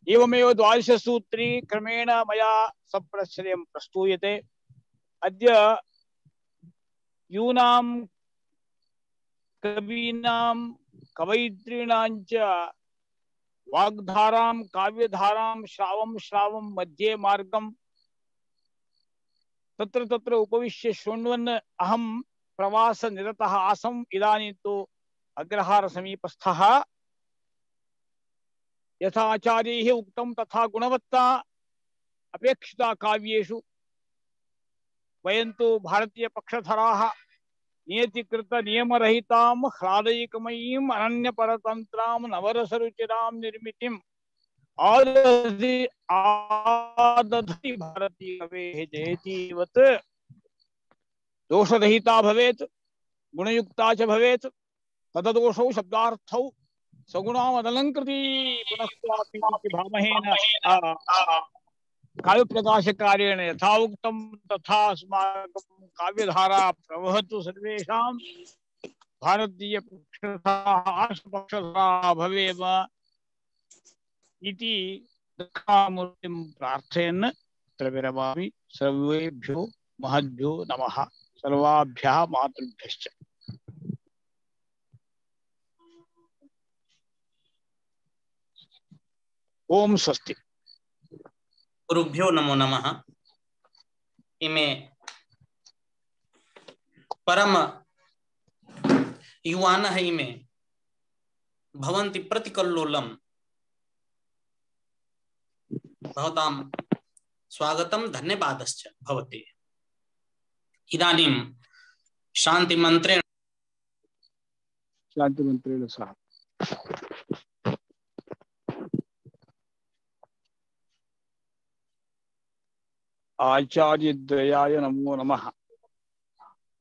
एवमेव द्वादशसूत्री क्रमेण मया सप्रश्रयं प्रस्तूयते। अद्य यूनां कवीनां कवयित्रीणां च वाग्धारां काव्यधारां श्रावं श्रावं मध्ये मार्गं तत्र तत्र उपविश्य शृण्वन् अहं प्रवासनिरतः आसम्। इदानीं तु अग्रहार समीपस्थः। यथा आचार्यैः उक्तं तथा गुणवत्ता अपेक्षिता काव्येषु वयं तु भारतीय पक्षधराः नियतिकृत नियमरहितां ह्लादयिकमयीं अनन्यपरतन्त्रां नवरसरुचिरां निर्मितिम् आदधि आदधति भारतीयकवेः जयतीवत् दोषरहिता भवेत् गुणयुक्ता च भवेत्। तददोषौ शब्दार्थौ सगुणामदलंकृति पुनस्त्वापि भामहेन काव्य प्रकाश कार्येण यथा उक्तं तथा अस्माकं काव्यधारा प्रवहतु सर्वेषां भारतीय पक्षतः भवेम इति दक्षिणामूर्तिं प्रार्थयन् अत्र विरमामि। सर्वेभ्यो महद्भ्यो नमः। सर्वाभ्यः मातृभ्यश्च। ओम स्वस्ति। गुरुभ्यो नमो नमः। इमे परम युवानः इमे भवन्ति प्रतिकल्लोलम् भवतां स्वागतं धन्यवादश्च भवते। इदानीं शान्तिमन्त्रेण शान्तिमन्त्रेण सह आचार्यद्वयाय नमो नमः।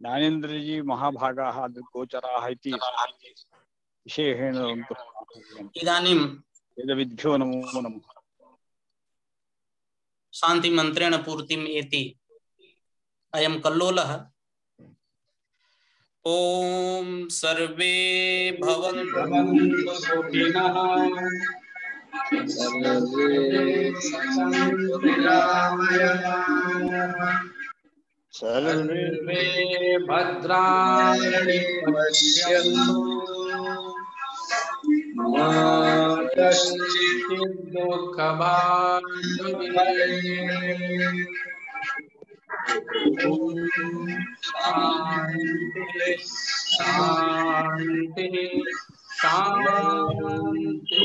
ज्ञानेन्द्रजी महाभागाः गोचराः इति विशेषेण इदानीं वेदविद्भ्यो नमो नमः। शान्तिमन्त्रेण पूर्तिम् एति अयं कल्लोलः। ओम सर्वे भवन्तु सुखिनः सर्वे भद्राणि पश्यन्तु मा कश्चित् दुःखभाग् भवेत्। शान्ति शान्ति शान्ति।